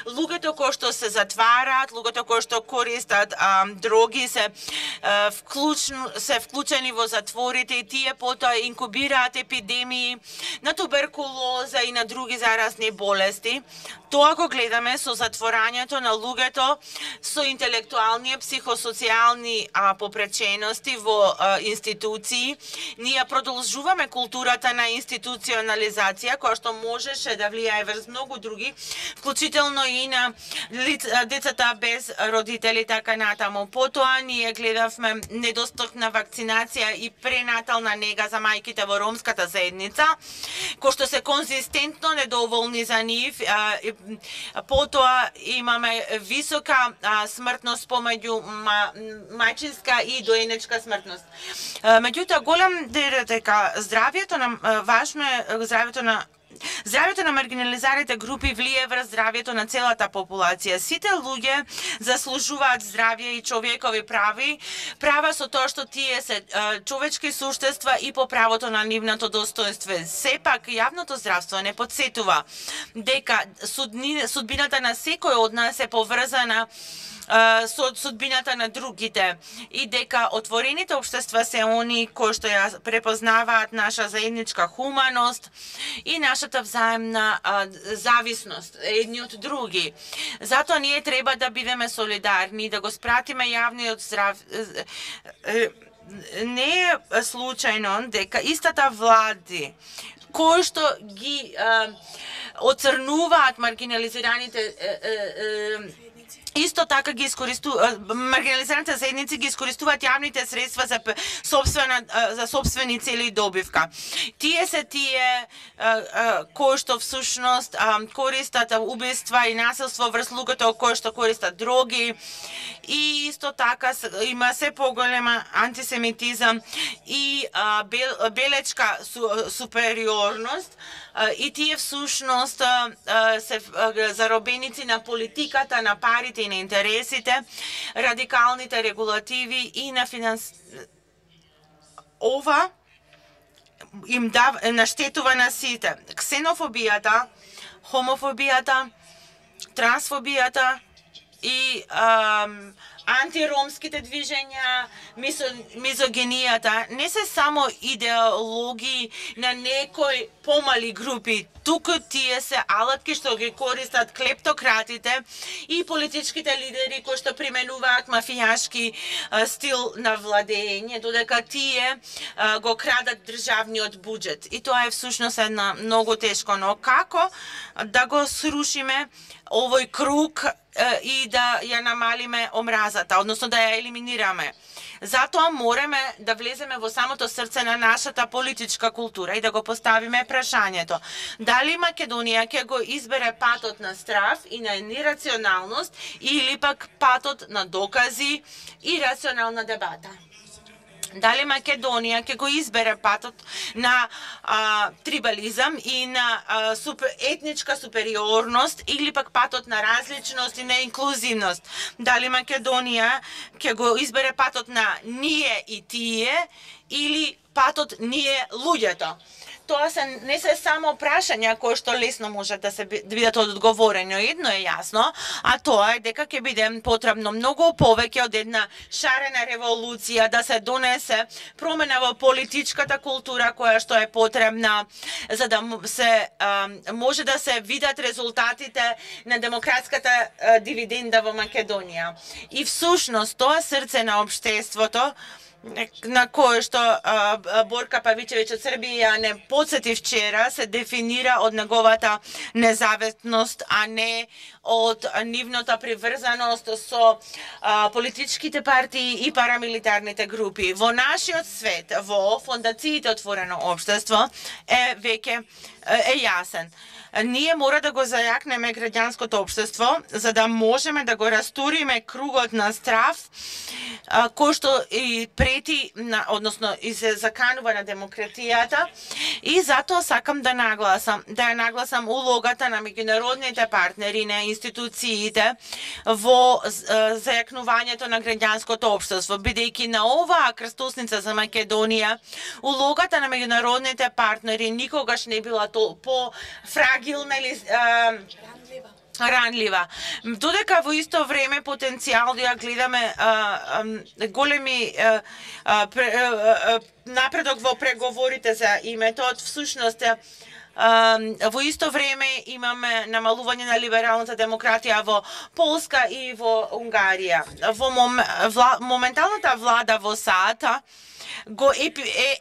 S6: Луѓето кои што се затвараат, луѓето кои што користат а, дроги се а, вклучно, се вклучени во затворите и тие потоа инкубираат епидемии на туберкулоза и на други заразни болести. Тоа го гледаме со затворањето на луѓето со интелектуални и психосоцијални а, попречености во а, институции. Ние продолжуваме културата на институционализација која што можеше да влијае врз многу други, вклучително и на лиц, децата без родители, така натаму. Потоа ние гледавме недостапна вакцинација и пренатална нега за мајките во ромската заедница, кои што се конзистентно недоволни за нив. А, потоа имаме висока а, смртност помеѓу ма, мајчинска и доенечка смртност. Меѓутоа, голем дел дека здравјето на важно е здравјето на Здравјето на маргинализираните групи влие врз здравјето на целата популација. Сите луѓе заслужуваат здравје и човекови прави, права со тоа што тие се човечки суштества и по правото на нивното достоинство. Сепак, јавното здравство не подсетува дека судни, судбината на секој од нас е поврзана со судбината на другите и дека отворените општества се они кои што ја препознаваат наша заедничка хуманост и нашата взаемна а, зависност едни од други. Затоа ние треба да бидеме солидарни, да го спратиме јавниот здрав... Не е случајно дека истата влади кои што ги а, оцрнуваат маргинализираните е, е, е, исто така ги искористуваат маргинализираните заедници ги искористуваат јавните средства за собствена за собствени цели и добивка. Тие се тие кои што всушност користат убиства и насилство врз луѓето кои што користат дроги и исто така има се поголема антисемитизам и белечка супериорност и тие всушност се заробеници на политиката, на парите и на интересите, радикалните регулативи и на финанс... Ова им дав... наштетува на сите. Ксенофобијата, хомофобијата, трансфобијата и ам, антиромските движења, мизо, мизогенијата, не се само идеологии на некои помали групи, туку тие се алатки што ги користат клептократите и политичките лидери кои што применуваат мафијашки а, стил на владење, додека тие а, го крадат државниот буџет. И тоа е всушност една многу тешко, но како да го срушиме овој круг и да ја намалиме омразата, односно да ја елиминираме. Затоа мораме да влеземе во самото срце на нашата политичка култура и да го поставиме прашањето. Дали Македонија ќе го избере патот на страв и на нерационалност или пак патот на докази и рационална дебата? Дали Македонија ќе го избере патот на а, трибализам и на а, супер, етничка супериорност или пак патот на различност и на инклузивност? Дали Македонија ќе го избере патот на ние и тие или патот ние луѓето? Тоа се не се само прашања кои што лесно може да се бидат одговорени. Едно е јасно, а тоа е дека ќе биде потребно многу повеќе од една шарена револуција да се донесе промена во политичката култура која што е потребна за да се а, може да се видат резултатите на демократската а, дивиденда во Македонија. И всушност тоа срце на општеството на кое што а, Борка Павичевиќ од Србија не подсети вчера, се дефинира од неговата независност, а не од нивната приврзаност со а, политичките партии и парамилитарните групи. Во нашиот свет, во фондациите Отворено општество, е веќе е јасен. Ние мора да го зајакнеме граѓанското општество за да можеме да го расториме кругот на страв а, кој што и прети, на, односно и се заканува на демократијата, и затоа сакам да нагласам, да ја нагласам улогата на меѓународните партнери, на институциите во а, зајакнувањето на граѓанското општество, бидејќи на оваа крстосница за Македонија улогата на меѓународните партнери никогаш не била то по фрагилна или а, ранлива. Додека во исто време потенцијал да ја гледаме а, а, големи а, а, пре, а, напредок во преговорите за името, од всушност Uh, во исто време имаме намалување на либералната демократија во Полска и во Унгарија. Во мом, вла, моменталната влада во САД го епи, е,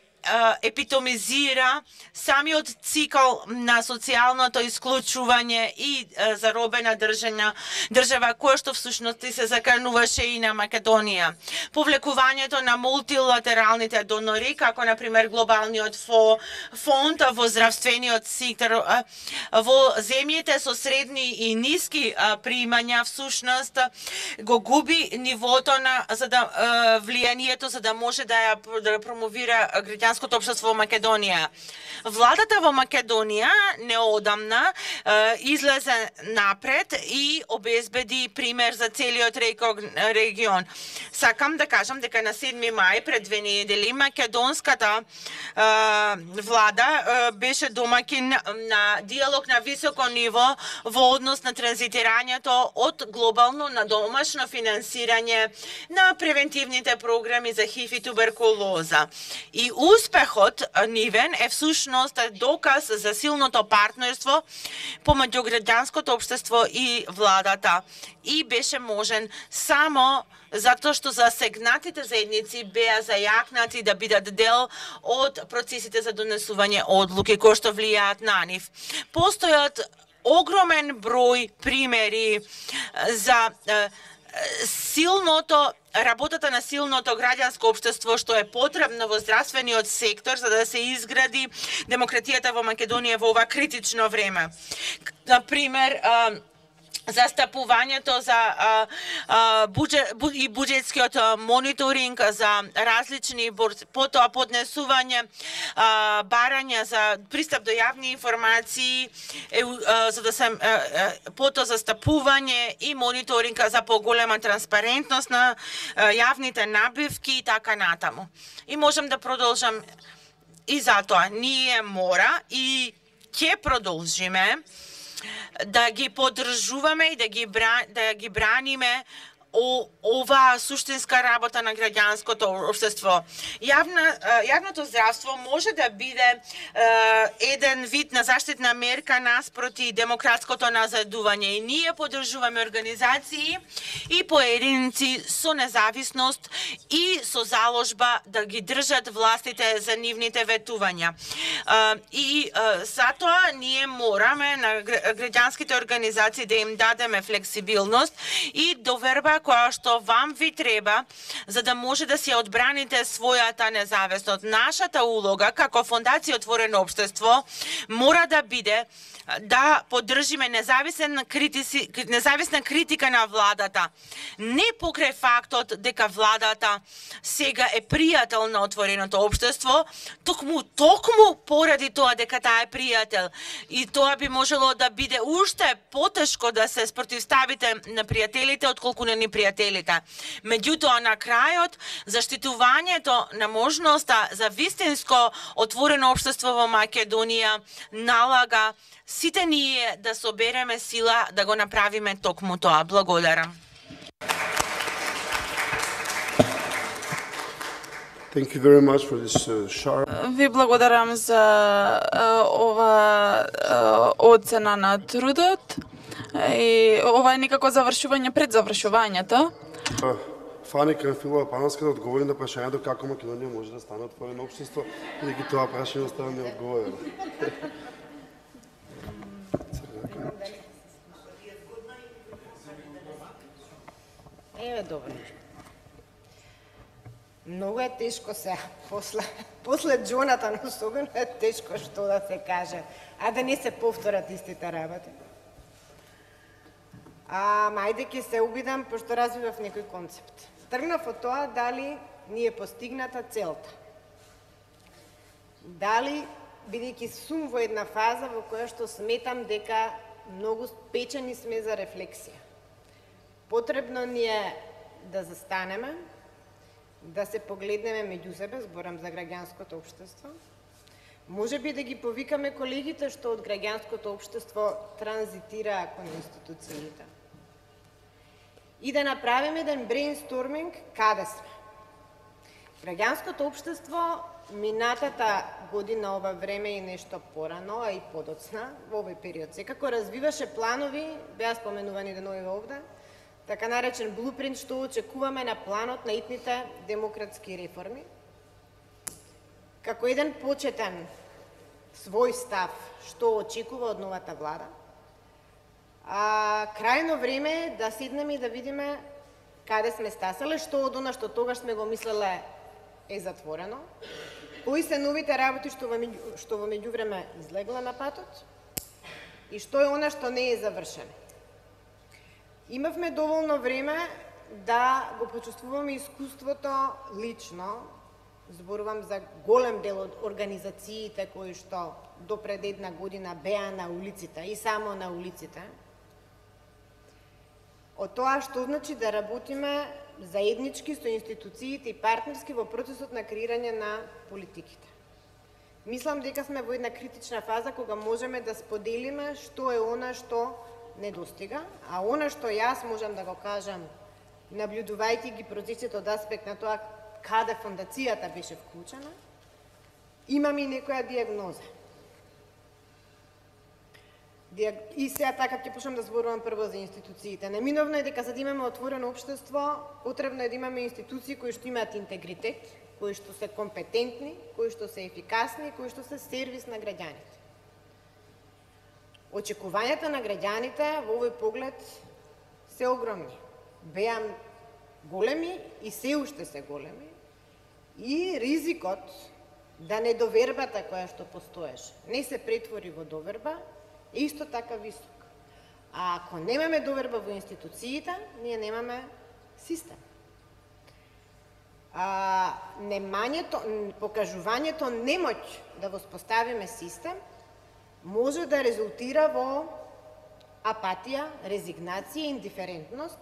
S6: епитомизира самиот цикл на социјалното исклучување и заробена држана, држава која што всушност се закануваше и на Македонија. Повлекувањето на мултилатералните донори, како на пример глобалниот фонд во здравствениот сектор, во земјите со средни и ниски примања всушност го губи нивото на за да влијанието за да може да ја да промовира граѓанското општество во Македонија. Владата во Македонија неодамна е, излезе напред и обезбеди пример за целиот регион. Сакам да кажам дека на седми мај пред две недели македонската е, влада е, беше домаќин на диалог на високо ниво во однос на транзитирањето од глобално на домашно финансирање на превентивните програми за ХИВ и туберкулоза. И успехот нивен е всушност доказ за силното партнерство помеѓу граѓанското општество и владата. И беше можен само затоа што засегнатите заедници беа зајакнати да бидат дел од процесите за донесување одлуки кои што влијаат на нив. Постојат огромен број примери за силното работата на силното граѓанско општество што е потребно во здравствениот сектор за да се изгради демократијата во Македонија во ова критично време. На пример, застапувањето за а, а, буџет, бу, и буџетскиот мониторинг за различни потоа поднесување а, барања за пристап до јавни информации е, а, за да се потоа застапување и мониторинг за поголема транспарентност на а, јавните набивки и така натаму. И можам да продолжам и затоа ние мора и ќе продолжиме да ги поддржуваме и да ги бра... да ги браниме о, оваа суштинска работа на граѓанското општество. Јавна, јавното здравство може да биде е, еден вид на заштитна мерка наспроти демократското назадување и ние поддржуваме организации и поединци со независност и со заложба да ги држат властите за нивните ветувања. Е, и е, затоа ние мораме на граѓанските организации да им дадеме флексибилност и доверба која што вам ви треба за да може да си одбраните својата независност. Нашата улога како Фондација Отворено општество мора да биде да поддржиме независен критици, независна критика на владата. Не покрај фактот дека владата сега е пријател на Отвореното општество, токму токму поради тоа дека таа е пријател. И тоа би можело да биде уште потешко да се спротивставите на пријателите отколку на непријателите. Меѓутоа на крајот заштитувањето на можноста за вистинско отворено општество во Македонија налага сите ние да собереме сила да го направиме токму тоа. Благодарам.
S1: Thank you very much for this uh, sharp.
S7: Ви благодарам за uh, ова uh, оцена на трудот. И ова е некако завршување пред завршувањето.
S1: Uh, Фани Кранфилова Панска да одговори на прашањето како Македонија може да стане отворено општество, бидејќи тоа прашање остава неодговорено.
S8: Еве добро. Многу е тешко се после после Джонатан особено е тешко што да се каже, а да не се повторат истите работи. А мајде ќе се обидам пошто развивав некој концепт. Тргнав од тоа дали ни е постигната целта. Дали бидејќи сум во една фаза во која што сметам дека многу печени сме за рефлексија. Потребно ни е да застанеме, да се погледнеме меѓу себе, зборам за граѓанското општество. Може би да ги повикаме колегите што од граѓанското општество транзитираа кон институциите. И да направиме еден брейнсторминг каде сме. Граѓанското општество минатата година ова време и нешто порано, а и подоцна, во овој период секако развиваше планови, беа споменувани денови овде, така наречен блупринт што очекуваме на планот на итните демократски реформи. Како еден почетен свој став што очекува од новата влада, а крајно време е да седнеме и да видиме каде сме стасале, што од она што тогаш сме го мислеле е затворено, кои се новите работи што во, што во меѓувреме излегла на патот и што е она што не е завршено. Имавме доволно време да го почувствуваме искуството лично, зборувам за голем дел од организациите кои што до пред една година беа на улиците и само на улиците, од тоа што значи да работиме заеднички со институциите и партнерски во процесот на креирање на политиките. Мислам дека сме во една критична фаза кога можеме да споделиме што е она што недостига, а она што јас можам да го кажам, наблюдувајќи ги процесите од аспект на тоа каде фондацијата беше вклучена, имам и некоја диагноза. И сега така ќе почнам да зборувам прво за институциите. Неминовно е дека за да имаме отворено општество, потребно е да имаме институции кои што имаат интегритет, кои што се компетентни, кои што се ефикасни, кои што се сервис на граѓаните. Очекувањата на граѓаните во овој поглед се огромни. Беа големи и се уште се големи. И ризикот да недовербата која што постоеше не се претвори во доверба е исто така висок. А ако немаме доверба во институциите, ние немаме систем. А, немањето, покажувањето немоќ да воспоставиме систем може да резултира во апатија, резигнација, индиферентност,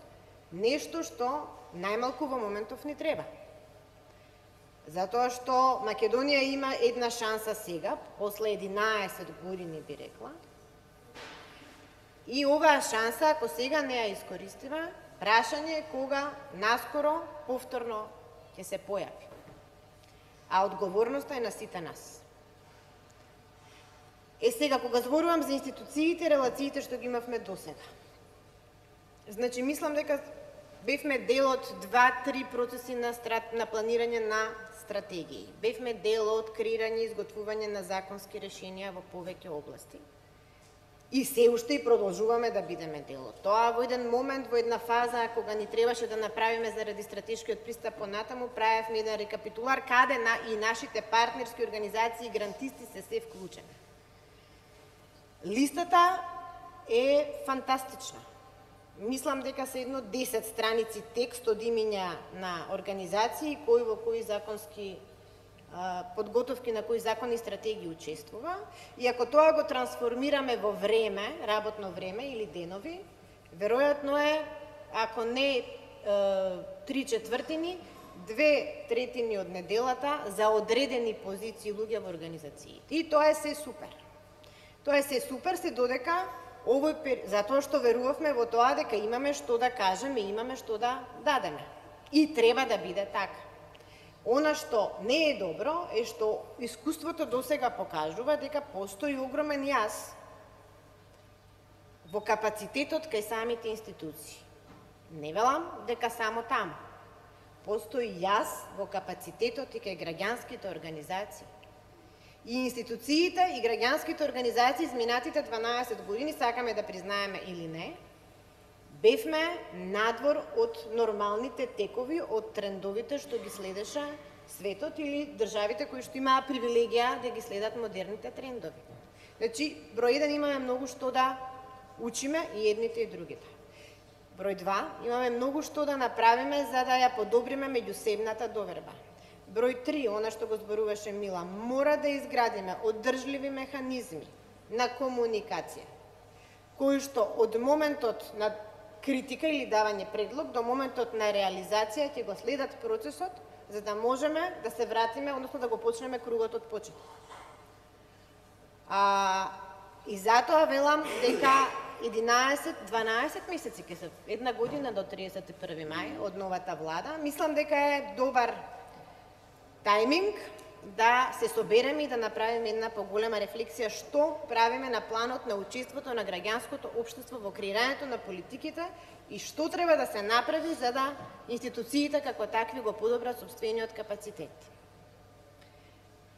S8: нешто што најмалку во моментов ни треба. Затоа што Македонија има една шанса сега, после единаесет години би рекла, И оваа шанса, ако сега не ја искористиме, прашање е кога наскоро, повторно, ќе се појави. А одговорноста е на сите нас. Е сега, кога зборувам за институциите, релациите што ги имавме досега. Значи, мислам дека бевме дел од два-три процеси на, страт, на планирање на стратегии. Бевме дел од креирање и изготвување на законски решенија во повеќе области. И се уште и продолжуваме да бидеме дел од тоа. Во еден момент, во една фаза, кога ни требаше да направиме заради стратешкиот пристап понатаму, правевме еден рекапитулар каде на и нашите партнерски организации и грантисти се се вклучени. Листата е фантастична. Мислам дека се едно десет страници текст од имиња на организации кои во кои законски а, подготовки на кои закони и стратегии учествува. И ако тоа го трансформираме во време, работно време или денови, веројатно е, ако не три четвртини, две третини од неделата за одредени позиции луѓе во организациите. И тоа е се супер. Тоа е се супер, се додека овој пер... затоа што верувавме во тоа дека имаме што да кажеме и имаме што да дадеме. И треба да биде така. Она што не е добро е што искуството досега покажува дека постои огромен јас во капацитетот кај самите институции. Не велам дека само таму. Постои јас во капацитетот и кај граѓанските организации. И институциите и граѓанските организации изминатите дванаесет години, сакаме да признаеме или не, бевме надвор од нормалните текови, од трендовите што ги следеше светот или државите кои што имаа привилегија да ги следат модерните трендови. Значи, број еден имаме многу што да учиме и едните и другите. Број два, имаме многу што да направиме за да ја подобриме меѓусебната доверба. Број три, она што го зборуваше Мила, мора да изградиме одржливи механизми на комуникација, кои што од моментот на критика или давање предлог до моментот на реализација ќе го следат процесот, за да можеме да се вратиме, односно да го почнеме кругот од почеток. А, и затоа велам дека единаесет-дванаесет месеци ќе се една година до триесет и први мај од новата влада, мислам дека е добар тајминг да се собереме и да направиме една поголема рефлексија што правиме на планот на учеството на граѓанското општество во креирањето на политиките и што треба да се направи за да институциите како такви го подобрат сопствениот капацитет.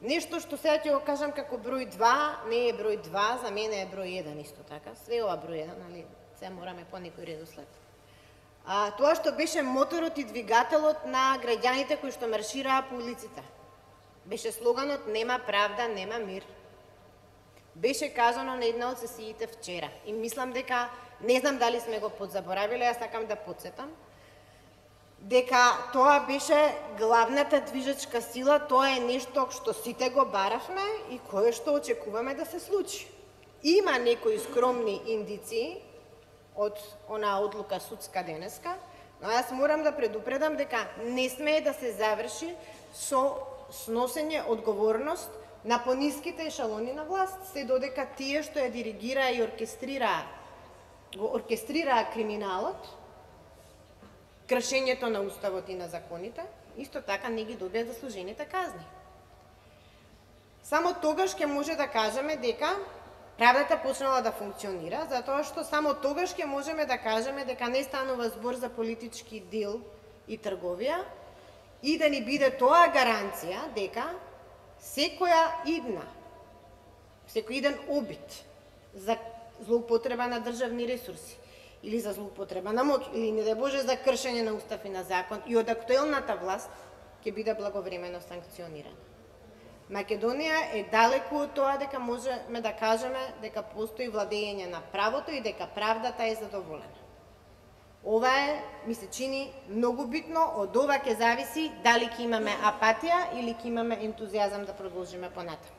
S8: Нешто што сега ќе го кажам како број два, не е број два, за мене е број еден исто така. Све ова број еден, али се мораме по некој редослед. А, тоа што беше моторот и двигателот на граѓаните кои што маршираа по улиците. Беше слоганот "Нема правда, нема мир". Беше кажано на една од сесиите вчера. И мислам дека, не знам дали сме го подзаборавиле, јас сакам да подсетам, дека тоа беше главната движечка сила, тоа е нешто што сите го баравме и кое што очекуваме да се случи. Има некои скромни индиции од онаа одлука судска денеска, но јас морам да предупредам дека не смее да се заврши со сносење одговорност на пониските ешалони на власт, се додека тие што ја диригираа и оркестрираа, го оркестрираа криминалот, кршењето на уставот и на законите, исто така не ги добија заслужените казни. Само тогаш ќе може да кажеме дека правдата почнала да функционира, затоа што само тогаш ќе можеме да кажеме дека не станува збор за политички дел и трговија и да ни биде тоа гаранција дека секоја идна, секој иден обид за злоупотреба на државни ресурси или за злоупотреба на моќ, или не да Боже за кршење на устав и на закон и од актуелната власт ќе биде благовремено санкционирана. Македонија е далеку од тоа дека можеме да кажеме дека постои владење на правото и дека правдата е задоволена. Ова е, ми се чини, многу битно, од ова ќе зависи дали ќе имаме апатија или ќе имаме ентузијазам да продолжиме понатаму.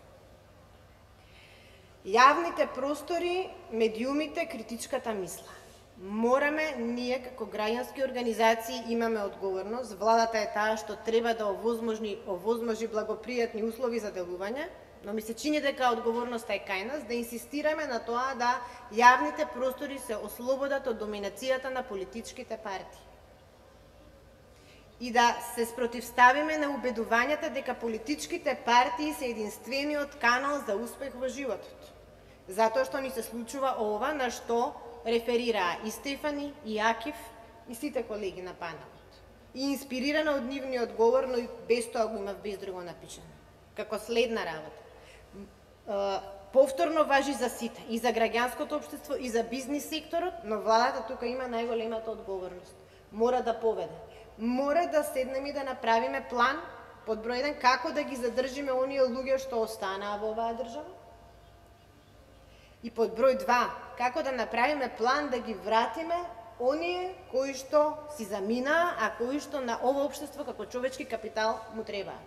S8: Јавните простори, медиумите, критичката мисла. Мораме, ние како граѓански организации имаме одговорност, владата е таа што треба да овозможи, овозможи благопријатни услови за делување но ми се чини дека одговорноста е кај нас да инсистираме на тоа да јавните простори се ослободат од доминацијата на политичките партии. И да се спротивставиме на убедувањата дека политичките партии се единствениот канал за успех во животот. Затоа што ни се случува ова на што реферираа и Стефани, и Акив, и сите колеги на панелот. И инспирирана од нивниот говор, но и без тоа го имав без друго напишано. Како следна работа. Повторно важи за сите, и за граѓанското општество, и за бизнис секторот, но владата тука има најголемата одговорност. Мора да поведе. Мора да седнеме и да направиме план, под број еден, како да ги задржиме оние луѓе што останаа во оваа држава. И под број два, како да направиме план да ги вратиме оние кои што си заминаа, а кои што на ова општество како човечки капитал му требаа.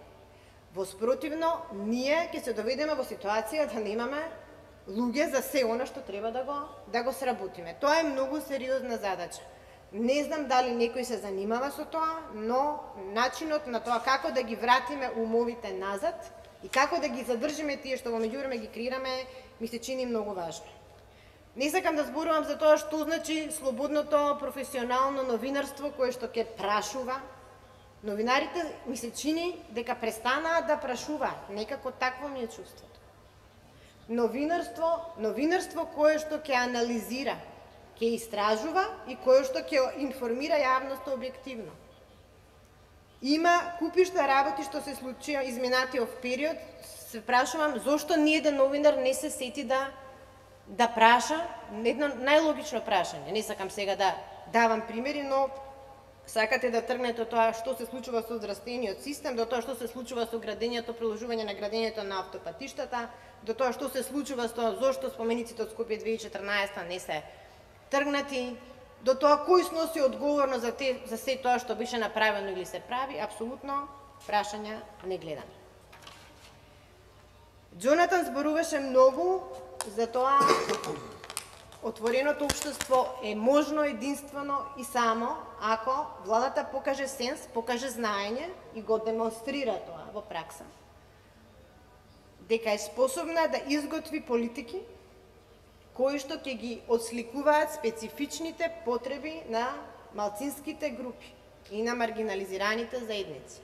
S8: Во спротивно, ние ќе се доведеме во ситуација да немаме луѓе за се она што треба да го, да го сработиме. Тоа е многу сериозна задача. Не знам дали некој се занимава со тоа, но начинот на тоа како да ги вратиме умовите назад и како да ги задржиме тие што во меѓувреме ги креираме, ми се чини многу важно. Не сакам да зборувам за тоа што значи слободното професионално новинарство кое што ќе прашува. Новинарите ми се чини дека престанаа да прашуваат, некако такво ми е чувството. Новинарство, новинарство кое што ќе анализира, ќе истражува и кое што ќе информира јавноста објективно. Има купишта работи што се случија изминатиот период, се прашувам зошто ниеден новинар не се сети да да праша едно најлогично прашање. Не сакам сега да давам примери, но сакате да тргнете од тоа што се случува со здравствениот систем, до тоа што се случува со градењето, приложување на градењето на автопатиштата, до тоа што се случува со зошто спомениците од Скопје две илјади и четрнаесетта не се тргнати, до тоа кој сноси одговорност за, те, за се тоа што беше направено или се прави, апсолутно прашања не гледаме. Џонатан зборуваше многу за тоа отвореното општество е можно единствено и само ако владата покаже сенс, покаже знаење и го демонстрира тоа во пракса. Дека е способна да изготви политики кои што ќе ги отсликуваат специфичните потреби на малцинските групи и на маргинализираните заедници.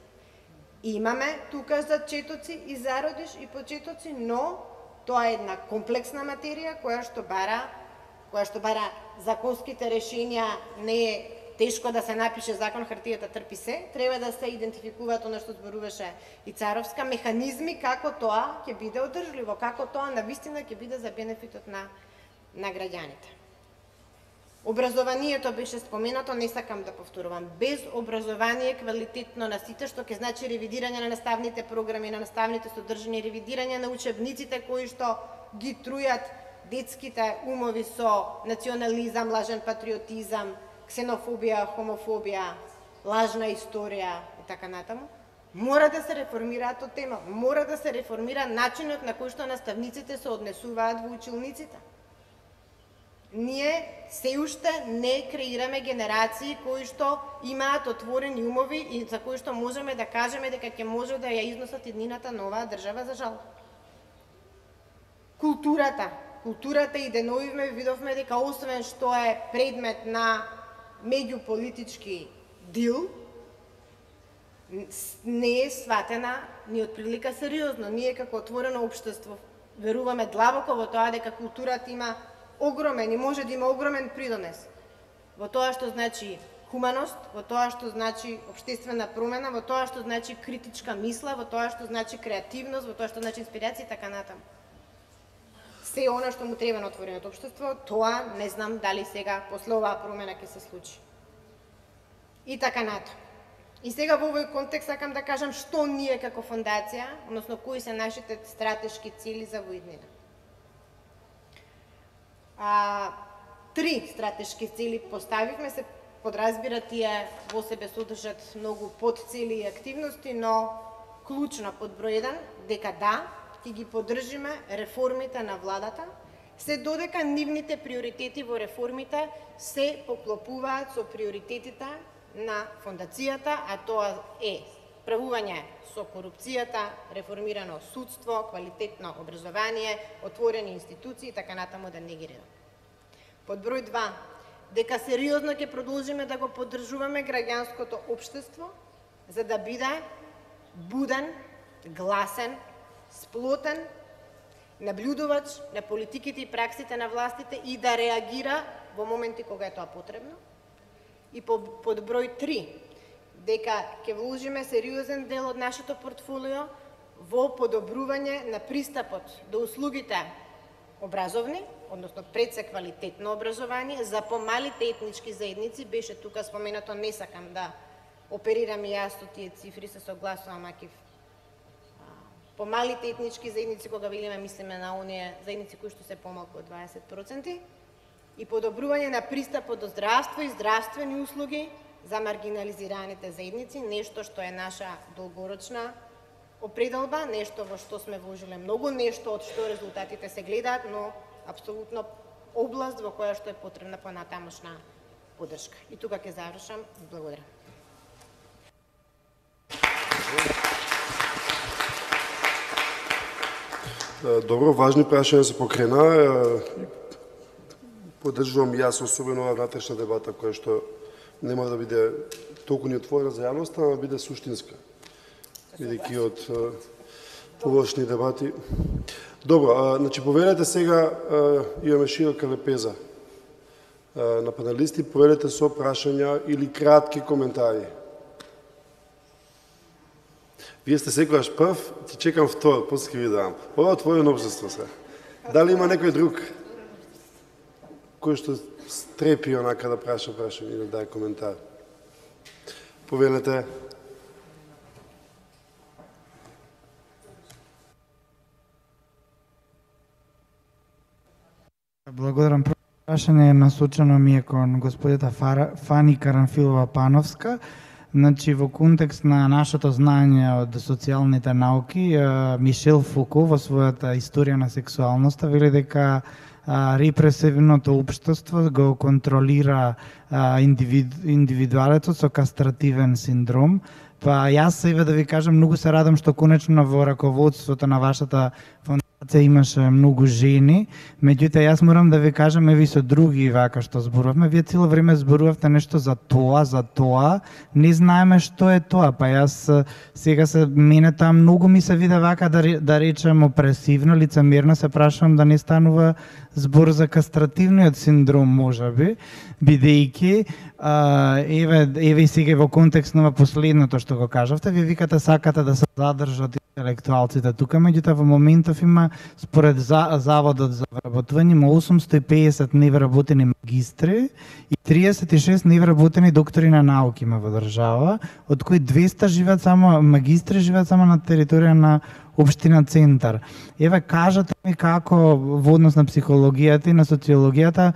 S8: Имаме тука зачетоци и зародиш и почетоци, но тоа е една комплексна материја која што бара, која што бара законските решенија. Не е тешко да се напише закон, хартијата трпи се, треба да се идентификуваат она што зборуваше и Царовска, механизми како тоа ќе биде одржливо, како тоа навистина ќе биде за бенефитот на на граѓаните. Образованието беше споменато, не сакам да повторувам. Без образование квалитетно на сите, што ќе значи ревидирање на наставните програми, на наставните содржини, ревидирање на учебниците кои што ги трујат детските умови со национализам, лажен патриотизам, ксенофобија, хомофобија, лажна историја и така натаму. Мора да се реформираат од тема, мора да се реформира начинот на кој што наставниците се однесуваат во училниците. Ние се уште не креираме генерации кои што имаат отворени умови и за кои што можеме да кажеме дека ќе може да ја износат иднината на оваа држава, за жал. Културата. Културата и деновивме видовме дека освен што е предмет на меѓуполитички дил, не е сватена ни од прилика сериозно. Ние како отворено општество веруваме длабоко во тоа дека културата има огромен и може да има огромен придонес во тоа што значи хуманост, во тоа што значи општествена промена, во тоа што значи критичка мисла, во тоа што значи креативност, во тоа што значи инспирација и така натаму. Се она што му треба на отвореното општество, тоа не знам дали сега после оваа промена ќе се случи. И така натаму. И сега во овој контекст сакам да кажам што ние како фондација, односно кои се нашите стратешки цели за во иднина. А, три стратешки цели поставивме, се подразбира тие во себе содржат многу подцели и активности, но клучно под број еден дека да, ќе ги поддржиме реформите на владата, се додека нивните приоритети во реформите се поклопуваат со приоритетите на фондацијата, а тоа е справување со корупцијата, реформирано судство, квалитетно образование, отворени институции и така натаму да не ги редам. Под број два, дека сериозно ќе продолжиме да го поддржуваме граѓанското општество за да биде буден, гласен, сплотен, наблюдувач на политиките и праксите на властите и да реагира во моменти кога е тоа потребно. И под број три, дека ќе вложиме сериозен дел од нашето портфолио во подобрување на пристапот до услугите образовни, односно пред се квалитетно образование, за помалите етнички заедници, беше тука споменато, не сакам да оперирам и јас со тие цифри, се согласувам, акив помалите етнички заедници, кога велиме, мислиме на оние заедници кои што се помалку од дваесет проценти, и подобрување на пристапот до здравство и здравствени услуги за маргинализираните заедници, нешто што е наша долгорочна определба, нешто во што сме вложиле многу, нешто од што резултатите се гледаат, но апсолутно област во која што е потребна понатамошна поддршка. И тука ќе завршам. Благодарам.
S1: Добро, важни прашања се покрена. Поддржувам јас особено оваа внатрешна дебата која што нема да биде толку ни отворена за јавноста, а да биде суштинска. Бидејќи од површни дебати. Добро, а, значи повелете сега, а, имаме широка лепеза а, на панелисти, повелете со прашања или кратки коментари. Вие сте секогаш прв, ти чекам втор, после ќе ви дам. Ова е отворено општество се. Дали има некој друг кој што стрепи онака да праша прашање или да даде коментар? Повелете.
S9: Благодарам. Прашање насочено ми е кон господјата Фани Карамфилова-Пановска. Значи, во контекст на нашето знање од социјалните науки, Мишел Фуко во својата историја на сексуалноста вели дека репресивното општество го контролира индивиду, индивидуалецот со кастративен синдром. Па јас сега да ви кажам, многу се радам што конечно во раководството на вашата фондација имаше многу жени, меѓутоа јас морам да ви кажам, еви со други вака што зборувавме, вие цело време зборувавте нешто за тоа, за тоа, не знаеме што е тоа, па јас сега се мене таа многу ми се виде вака да, да речем опресивно, лицемерно, се прашувам да не станува збор за кастративниот синдром, можеби, бидејќи еве еве сега во контекст на последното што го кажавте, вие викате сакате да се задржат интелектуалците тука, меѓутоа во моментов има според за, заводот за вработување има осумстотини и песет невработени магистри и триесет и шест невработени доктори на науки има во држава, од кои двеста живеат само магистри живеат само на територија на општина Центар. Еве, кажете ми како во однос на психологијата и на социологијата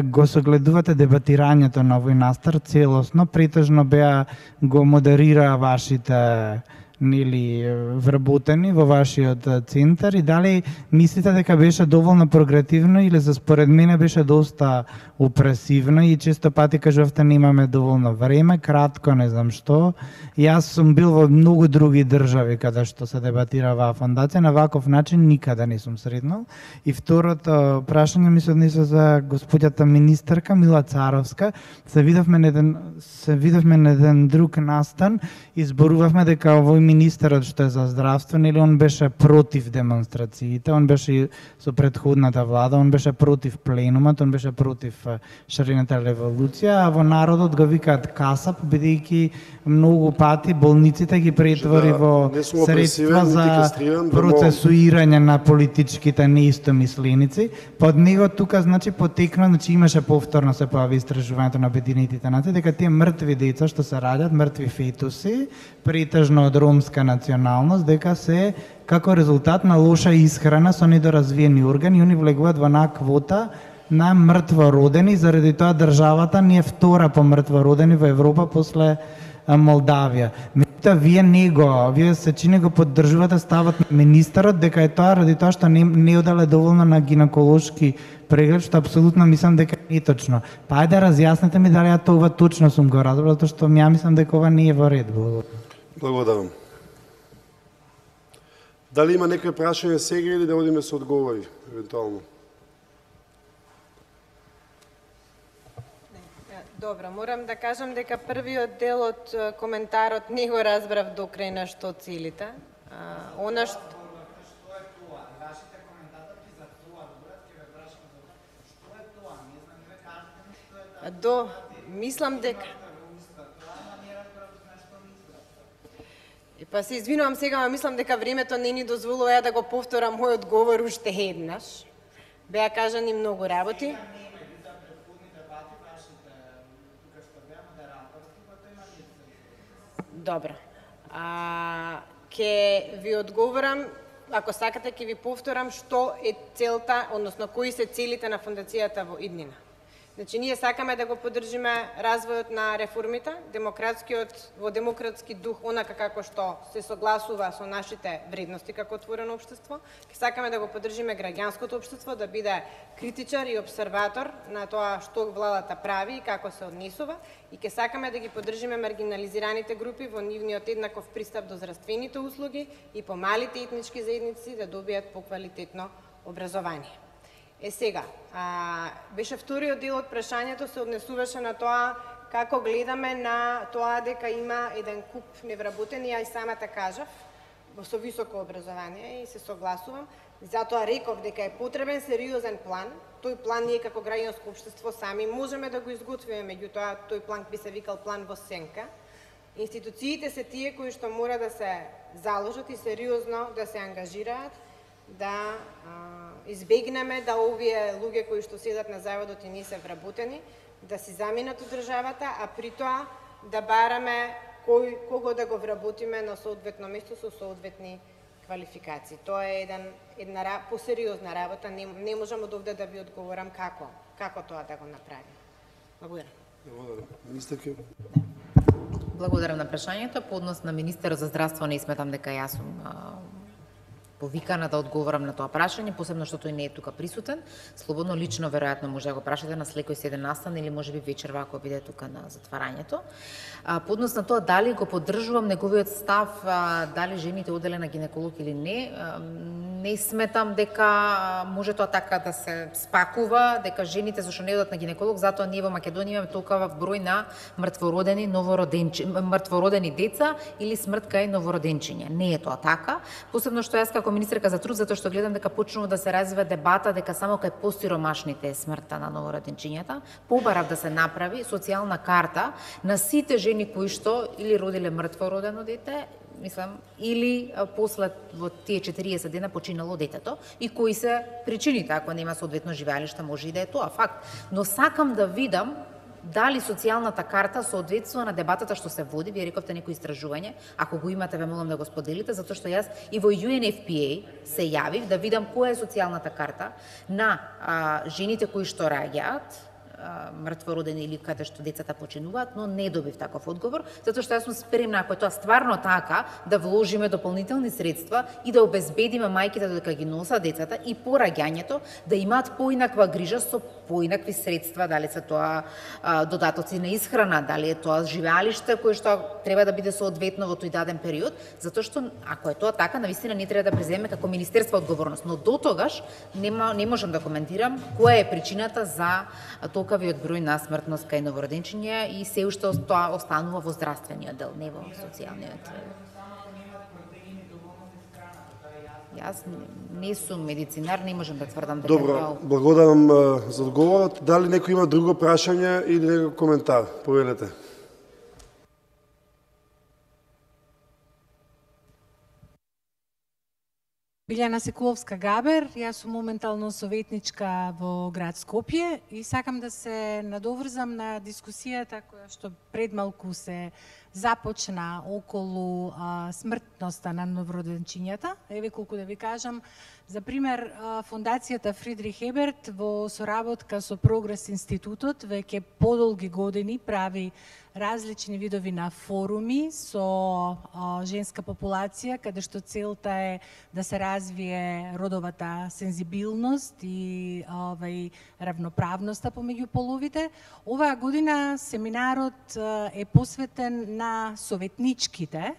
S9: го согледувате дебатирањето на овој настар целосно, претежно беа го модерира вашите нели вработени во вашиот центар и дали мислите дека беше доволно прогретивно или за според мене беше доста опресивно и често пати кажувате немаме доволно време, кратко, не знам што. Јас сум бил во многу други држави каде што се дебатира оваа фондација, на ваков начин никаде не сум среднал. И второто прашање ми се однесува за господјата министерка Мила Царовска. Се видовме на еден се видовме на еден друг настан и зборувавме дека овој министерот што е за здравство, нели он беше против демонстрациите, он беше со претходната влада, он беше против пленумот, он беше против шарената револуција, а во народот го викаат касап, бидејќи многу пати болниците ги претвори во средства за процесуирање на политичките неистомисленици. Под него тука значи потекна, значи имаше повторно се појави истражувањето на Обединетите нации дека тие мртви деца што се раѓаат, мртви фетуси, претежно од ромска националност, дека се како резултат на лоша исхрана со недоразвиени органи, они влегуваат во една квота на мртвородени, заради тоа државата ни е втора по мртвородени во Европа после Молдавија. Меѓутоа вие него, вие се чини го поддржувате ставот на министерот дека е тоа ради тоа што не, не одале доволно на гинеколошки преглед, што апсолутно мислам дека не е точно. Па ајде разјасните ми дали ја тоа точно сум го разбрал, затоа што ја мислам дека ова не е во ред.
S1: Благодарам. Дали има некој прашање сега или да одиме со одговори, евентуално?
S8: Добро, морам да кажам дека првиот дел од коментарот не го разбрав до крај на што целите. Она што До, мислам дека... Па се извинувам сега, но мислам дека времето не ни дозволува ја да го повторам мојот говор уште еднаш. Беа кажани многу работи. Добро. А, ке ви одговорам, ако сакате, ке ви повторам што е целта, односно кои се целите на фондацијата во иднина. Значи, ние сакаме да го поддржиме развојот на реформите, демократскиот, во демократски дух, онака како што се согласува со нашите вредности како отворено општество. Ке сакаме да го поддржиме граѓанското општество, да биде критичар и обсерватор на тоа што владата прави и како се однесува. И ке сакаме да ги поддржиме маргинализираните групи во нивниот еднаков пристап до здравствените услуги и помалите етнички заедници да добијат поквалитетно образование. Е сега, а, беше вториот дел од прашањето се однесуваше на тоа како гледаме на тоа дека има еден куп невработени, ја и самата кажав, со високо образование и се согласувам. Затоа реков дека е потребен сериозен план. Тој план ние како граѓанско општество сами можеме да го изготвиме, меѓутоа тој план би се викал план во сенка. Институциите се тие кои што мора да се заложат и сериозно да се ангажираат да а, избегнеме да овие луѓе кои што седат на заводот и не се вработени, да си заминат од државата, а при тоа да бараме кој, кого да го вработиме на соодветно место со соодветни квалификации. Тоа е еден, една посериозна работа, не, не можам од овде да ви одговорам како, како тоа да го направиме. Благодарам.
S1: Благодарам. Министерке.
S3: Благодарам на прашањето. По однос на министерот за здравство не сметам дека јас сум повикана да одговорам на тоа прашање, посебно што тој не е тука присутен. Слободно лично веројатно може да го прашате на слекој седен настан или можеби вечерва ако биде тука на затварањето. А, по однос на тоа дали го поддржувам неговиот став, а, дали жените оделе на гинеколог или не, а, не сметам дека може тоа така да се спакува, дека жените зашто не одат на гинеколог, затоа ние во Македонија имаме толкова број на мртвородени новороденчи, мртвородени деца или смрт кај новороденчиња. Не е тоа така. Посебно што јас како министерка за труд, затоа што гледам дека почнува да се развива дебата дека само кај посиромашните е смртта на новороденчињата, побарав да се направи социјална карта на сите жени кои што или родиле мртво родено дете, мислам, или после во тие четириесет дена починало детето и кои се причините, ако нема соодветно живеалиште, може и да е тоа факт. Но сакам да видам дали социјалната карта соодветствува на дебатата што се води. Вие рековте некои истражување, ако го имате ве молам да го споделите, затоа што јас и во Ю Ен Еф Пи Ей се јавив да видам која е социјалната карта на а, жените кои што раѓаат мртвородени или каде што децата починуваат, но не добив таков одговор, затоа што јас сум спремна, ако е тоа стварно така, да вложиме дополнителни средства и да обезбедиме мајките додека ги носат децата и по раѓањето да имаат поинаква грижа со поинакви средства, дали се тоа а, додатоци на исхрана, дали е тоа живеалиште кое што треба да биде соодветно во тој даден период, затоа што ако е тоа така, навистина не треба да преземе како министерство одговорност, но до тогаш нема, не можам да коментирам која е причината за толкавиот број на смртност кај новороденчиња и се уште тоа останува во здравствениот дел, не во социјалниот. Јас не сум медицинар, не можам да тврдам дека
S1: Добро,
S3: тоа...
S1: благодарам за одговорот. Дали некој има друго прашање или некој коментар? Повелете.
S10: Билјана Секуловска-Габер, јас сум моментално советничка во град Скопје и сакам да се надоврзам на дискусијата која што пред малку се започна околу а, смртноста на новороденчињата. Еве колку да ви кажам, за пример, а, фондацијата Фридрих Еберт во соработка со Прогрес институтот веќе подолги години прави различни видови на форуми со а, женска популација, каде што целта е да се развие родовата сензибилност и овај равноправноста помеѓу половите. Оваа година семинарот а, е посветен на советничките,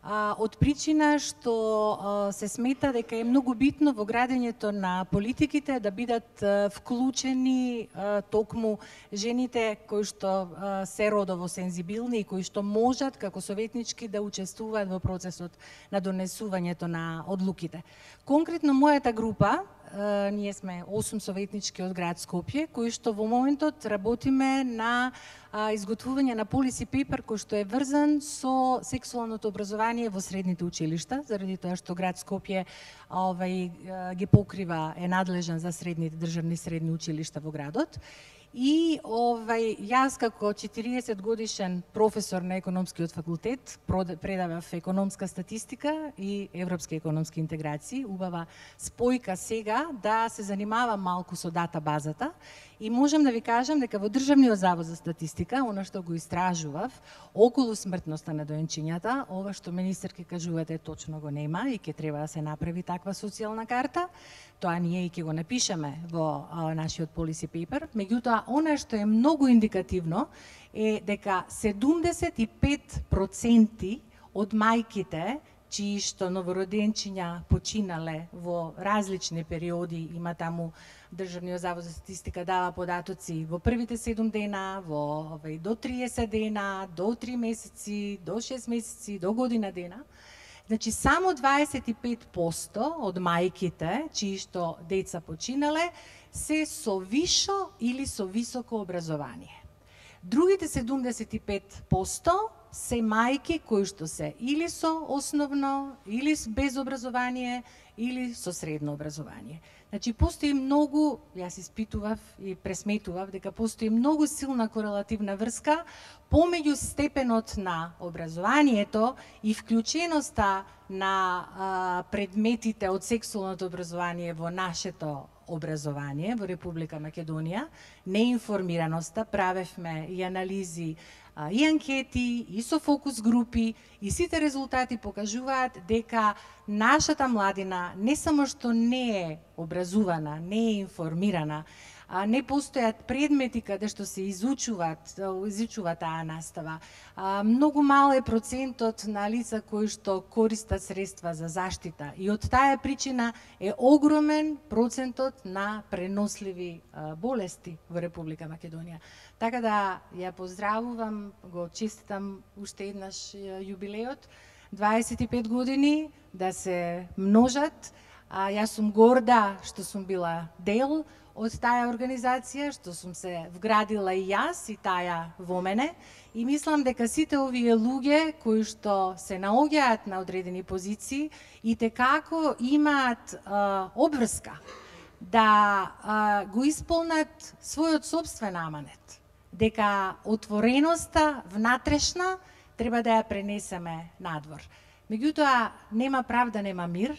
S10: а, од причина што а, се смета дека е многу битно во градењето на политиките да бидат а, вклучени а, токму жените кои што а, се родово сензибилни и кои што можат како советнички да учествуваат во процесот на донесувањето на одлуките. Конкретно мојата група, Uh, ние сме осум советнички од град Скопје, кои што во моментот работиме на uh, изготвување на policy paper кој што е врзан со сексуалното образование во средните училишта, заради тоа што град Скопје овај, uh, ги покрива, е надлежен за средните државни средни училишта во градот. И овај, јас како четириесет годишен професор на економскиот факултет предавав економска статистика и европски економски интеграции. Убава спојка сега да се занимавам малку со дата базата и можам да ви кажам дека во Државниот завод за статистика, она што го истражував околу смртноста на доенчињата, ова што министерки кажувате точно го нема и ќе треба да се направи таква социјална карта. Тоа ние и ќе го напишеме во а, нашиот policy paper. Меѓутоа, она што е многу индикативно е дека седумдесет и пет проценти од мајките чии што новороденчиња починале во различни периоди, има таму Државниот завод за статистика дава податоци во првите седум дена, во овај, до триесет дена, до три месеци, до шест месеци, до година дена. Значи, само дваесет и пет проценти од мајките, чии што деца починале, се со вишо или со високо образование. Другите седумдесет и пет проценти се мајки кои што се или со основно, или без образование, или со средно образование. Значи, постои многу, јас испитував и пресметував дека постои многу силна корелативна врска помеѓу степенот на образованието и вклученоста на а, предметите од сексуалното образование во нашето образование во Република Македонија, неинформираноста, правевме и анализи и анкети, и со фокус групи, и сите резултати покажуваат дека нашата младина не само што не е образувана, не е информирана, а не постојат предмети каде што се изучуваат, изучува таа настава. А, многу мал е процентот на лица кои што користат средства за заштита и од таа причина е огромен процентот на преносливи а, болести во Република Македонија. Така да ја поздравувам, го честитам уште еднаш јубилеот, дваесет и пет години да се множат. А, јас сум горда што сум била дел од таа организација, што сум се вградила и јас и таа во мене, и мислам дека сите овие луѓе кои што се наоѓаат на одредени позиции и текако имаат а, обврска да а, го исполнат својот собствен аманет, дека отвореноста внатрешна треба да ја пренесеме надвор. Меѓутоа, нема правда, нема мир.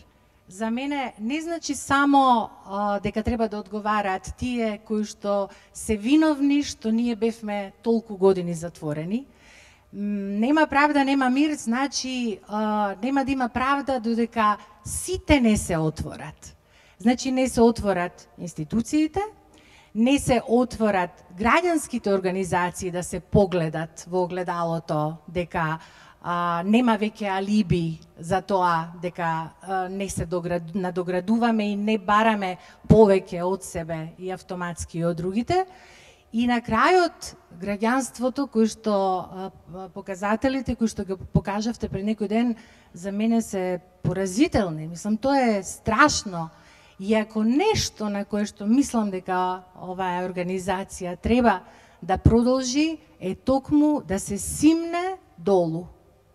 S10: За мене не значи само а, дека треба да одговараат тие кои што се виновни што ние бевме толку години затворени. Нема правда, нема мир, значи а, нема да има правда додека сите не се отворат. Значи не се отворат институциите, не се отворат граѓанските организации да се погледат во огледалото дека а, нема веќе алиби за тоа дека а, не се доград, надоградуваме и не бараме повеќе од себе и автоматски од другите. И на крајот, граѓанството, кој што а, показателите кои што го покажавте пред некој ден, за мене се поразителни. Мислам, тоа е страшно. И ако нешто на кое што мислам дека оваа организација треба да продолжи, е токму да се симне долу.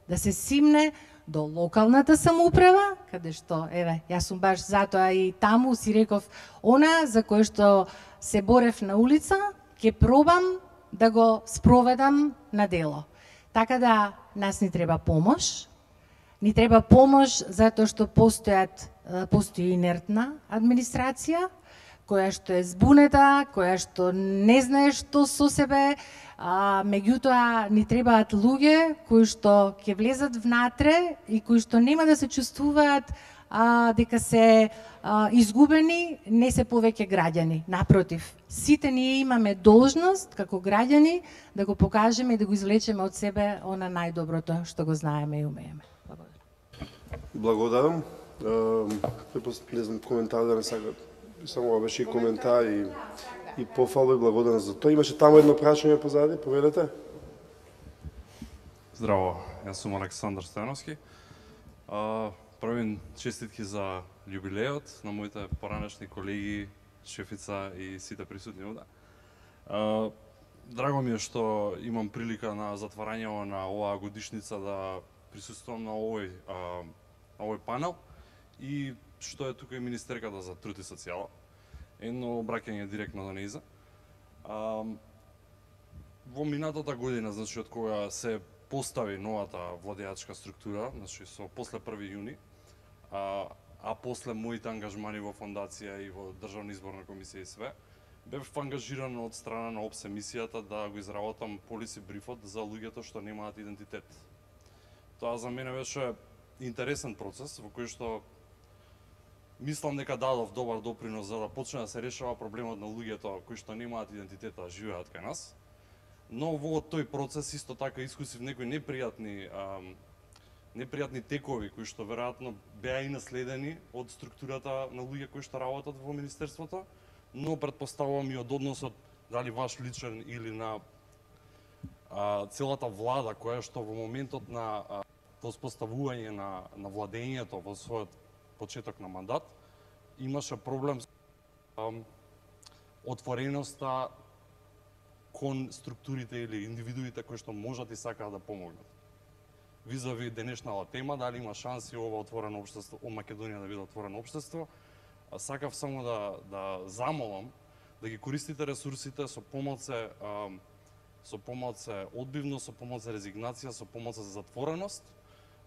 S10: Да се симне до локалната самоуправа, каде што, еве, јас сум баш затоа и таму си реков, она за кое што се борев на улица, ќе пробам да го спроведам на дело. Така да, нас ни треба помош, ни треба помош затоа што постојат, постои инертна администрација, која што е збунета, која што не знае што со себе, а, меѓутоа ни требаат луѓе кои што ќе влезат внатре и кои што нема да се чувствуваат а, дека се а, изгубени, не се повеќе граѓани. Напротив, сите ние имаме должност како граѓани да го покажеме и да го извлечеме од себе она најдоброто што го знаеме и умееме. Благодарам.
S1: Благодарам. Не знам, коментар да не сакат. Само ова беше и коментар и, и пофала и благодарам за тоа. Имаше таму едно прашање позади, повелете.
S11: Здраво, јас сум Александар Стојановски. Правим честитки за јубилеот на моите поранешни колеги, шефица и сите присутни овде. Драго ми е што имам прилика на затварањето на оваа годишница да присуствувам на овој, на овој панел и што е тука и министерката за труд и социјала. Едно обраќање директно до нејза. Во минатата година, значи од кога се постави новата владеачка структура, значи со после први јуни, а, а после моите ангажмани во фондација и во Државна изборна комисија и све, бев ангажиран од страна на ОПСЕ мисијата да го изработам полиси брифот за луѓето што немаат идентитет. Тоа за мене беше интересен процес во кој што мислам дека дадов добар допринос за да почне да се решава проблемот на луѓето кои што немаат идентитет а живеат кај нас. Но во тој процес исто така искусив некои непријатни а, непријатни текови кои што веројатно беа и наследени од структурата на луѓе кои што работат во министерството, но претпоставувам и од односот дали ваш личен или на а, целата влада која што во моментот на а, воспоставување на, на владењето во својот почеток на мандат имаше проблем со а, отвореноста кон структурите или индивидуите кои што можат и сакаат да помогнат. Визави денешната тема, дали има шанси ова отворено општество, о Македонија да биде отворено општество, сакав само да, да замолам да ги користите ресурсите со помалце, а, со помалце одбивност, со помалце резигнација, со помалце за затвореност,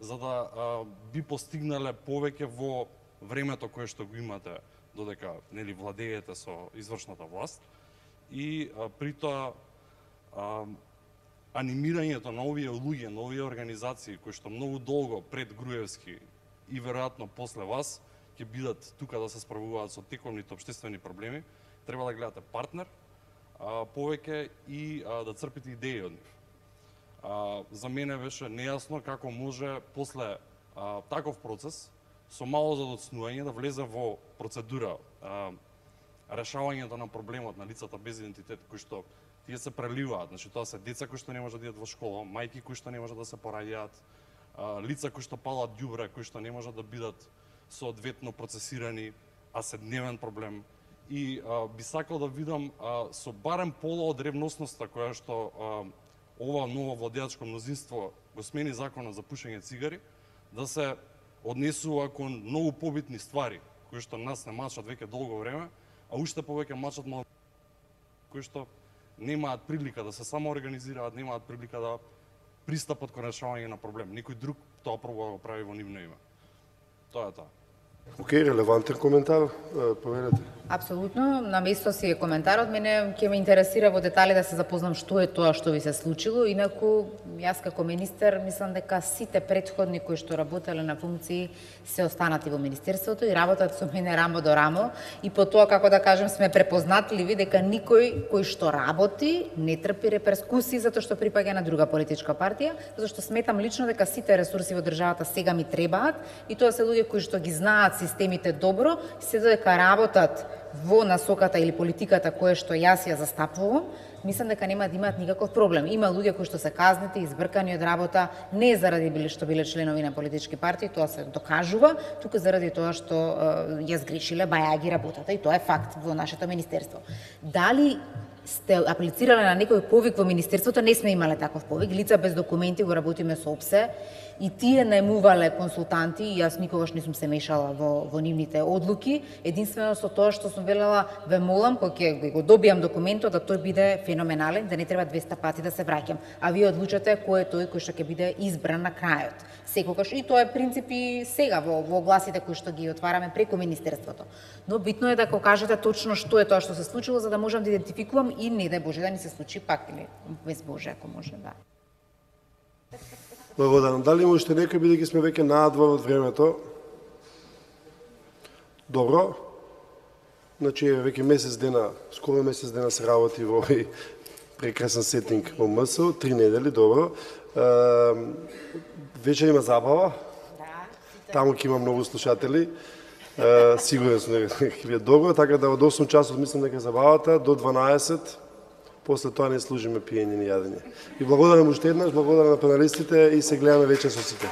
S11: за да а, би постигнале повеќе во времето кое што го имате додека нели владеете со извршната власт. И а, при тоа а, анимирањето на овие луѓе, на овие организации кои што многу долго пред Груевски и веројатно после вас ќе бидат тука да се справуваат со тековните општествени проблеми, треба да гледате партнер а, повеќе и а, да црпите идеи од нив. А, за мене беше нејасно како може после а, таков процес со мало задоцнување да влезе во процедура а, решавањето на проблемот на лицата без идентитет кои што тие се преливаат, значи тоа се деца кои што не можат да идат во школа, мајки кои што не можат да се пораѓаат, лица кои што палат ѓубре, кои што не можат да бидат соодветно процесирани, а се дневен проблем. И а, би сакал да видам а, со барем пола од ревностноста која што а, ова ново владеачко мнозинство го смени законот за пушење цигари, да се однесува кон многу побитни ствари кои што нас не мачат веќе долго време, а уште повеќе мачат мал... кои што немаат прилика да се самоорганизираат, немаат прилика да пристапат кон решавање на проблем. Никој друг тоа пробува да го прави во нивно име. Тоа е тоа.
S1: Океј, релевантен коментар, повелете.
S3: Апсолутно, на место си е коментарот. Мене ќе ме интересира во детали да се запознам што е тоа што ви се случило. Инаку, јас како министер, мислам дека сите претходни кои што работеле на функции се останати во министерството и работат со мене рамо до рамо. И по тоа, како да кажем, сме препознатливи дека никој кој што работи не трпи реперкусии затоа што припаѓа на друга политичка партија, затоа што сметам лично дека сите ресурси во државата сега ми требаат и тоа се луѓе кои што ги знаат системите добро, се додека работат во насоката или политиката која што јас ја застапувам, мислам дека нема да имаат никаков проблем. Има луѓе кои што се казнети, избркани од работа, не заради биле што биле членови на политички партии, тоа се докажува, туку заради тоа што е, ја сгрешиле бајаги работата и тоа е факт во нашето министерство. Дали сте аплицирале на некој повик во министерството? Не сме имале таков повик. Лица без документи го работиме со ОПСЕ и тие најмувале консултанти и јас никогаш не сум се мешала во, во нивните одлуки. Единствено со тоа што сум велела, ве молам, кога ќе го добијам документот, да тој биде феноменален, да не треба двеста пати да се враќам. А вие одлучате кој е тој кој што ќе биде избран на крајот. Секогаш, и тоа е принцип и сега во, во огласите кои што ги отвараме преку министерството. Но битно е да го кажете точно што е тоа што се случило, за да можам да идентификувам и не дај Боже да ни се случи пак, или без Боже, ако може, да.
S1: Благодарам. Дали има уште некој, бидејќи сме веќе надвор од времето? Добро. Значи, веќе месец дена, скоро месец дена се работи во овој прекрасен сетинг во МС, три недели, добро. Вечер има забава. таму ќе има многу слушатели. Uh, сигурен сум дека ќе биде добро, така да од осум часот мислам дека забавата до дванаесет, после тоа не служиме пиење ни јадење. И благодарам уште еднаш, благодарам на паналистите и се гледаме вечер со сите.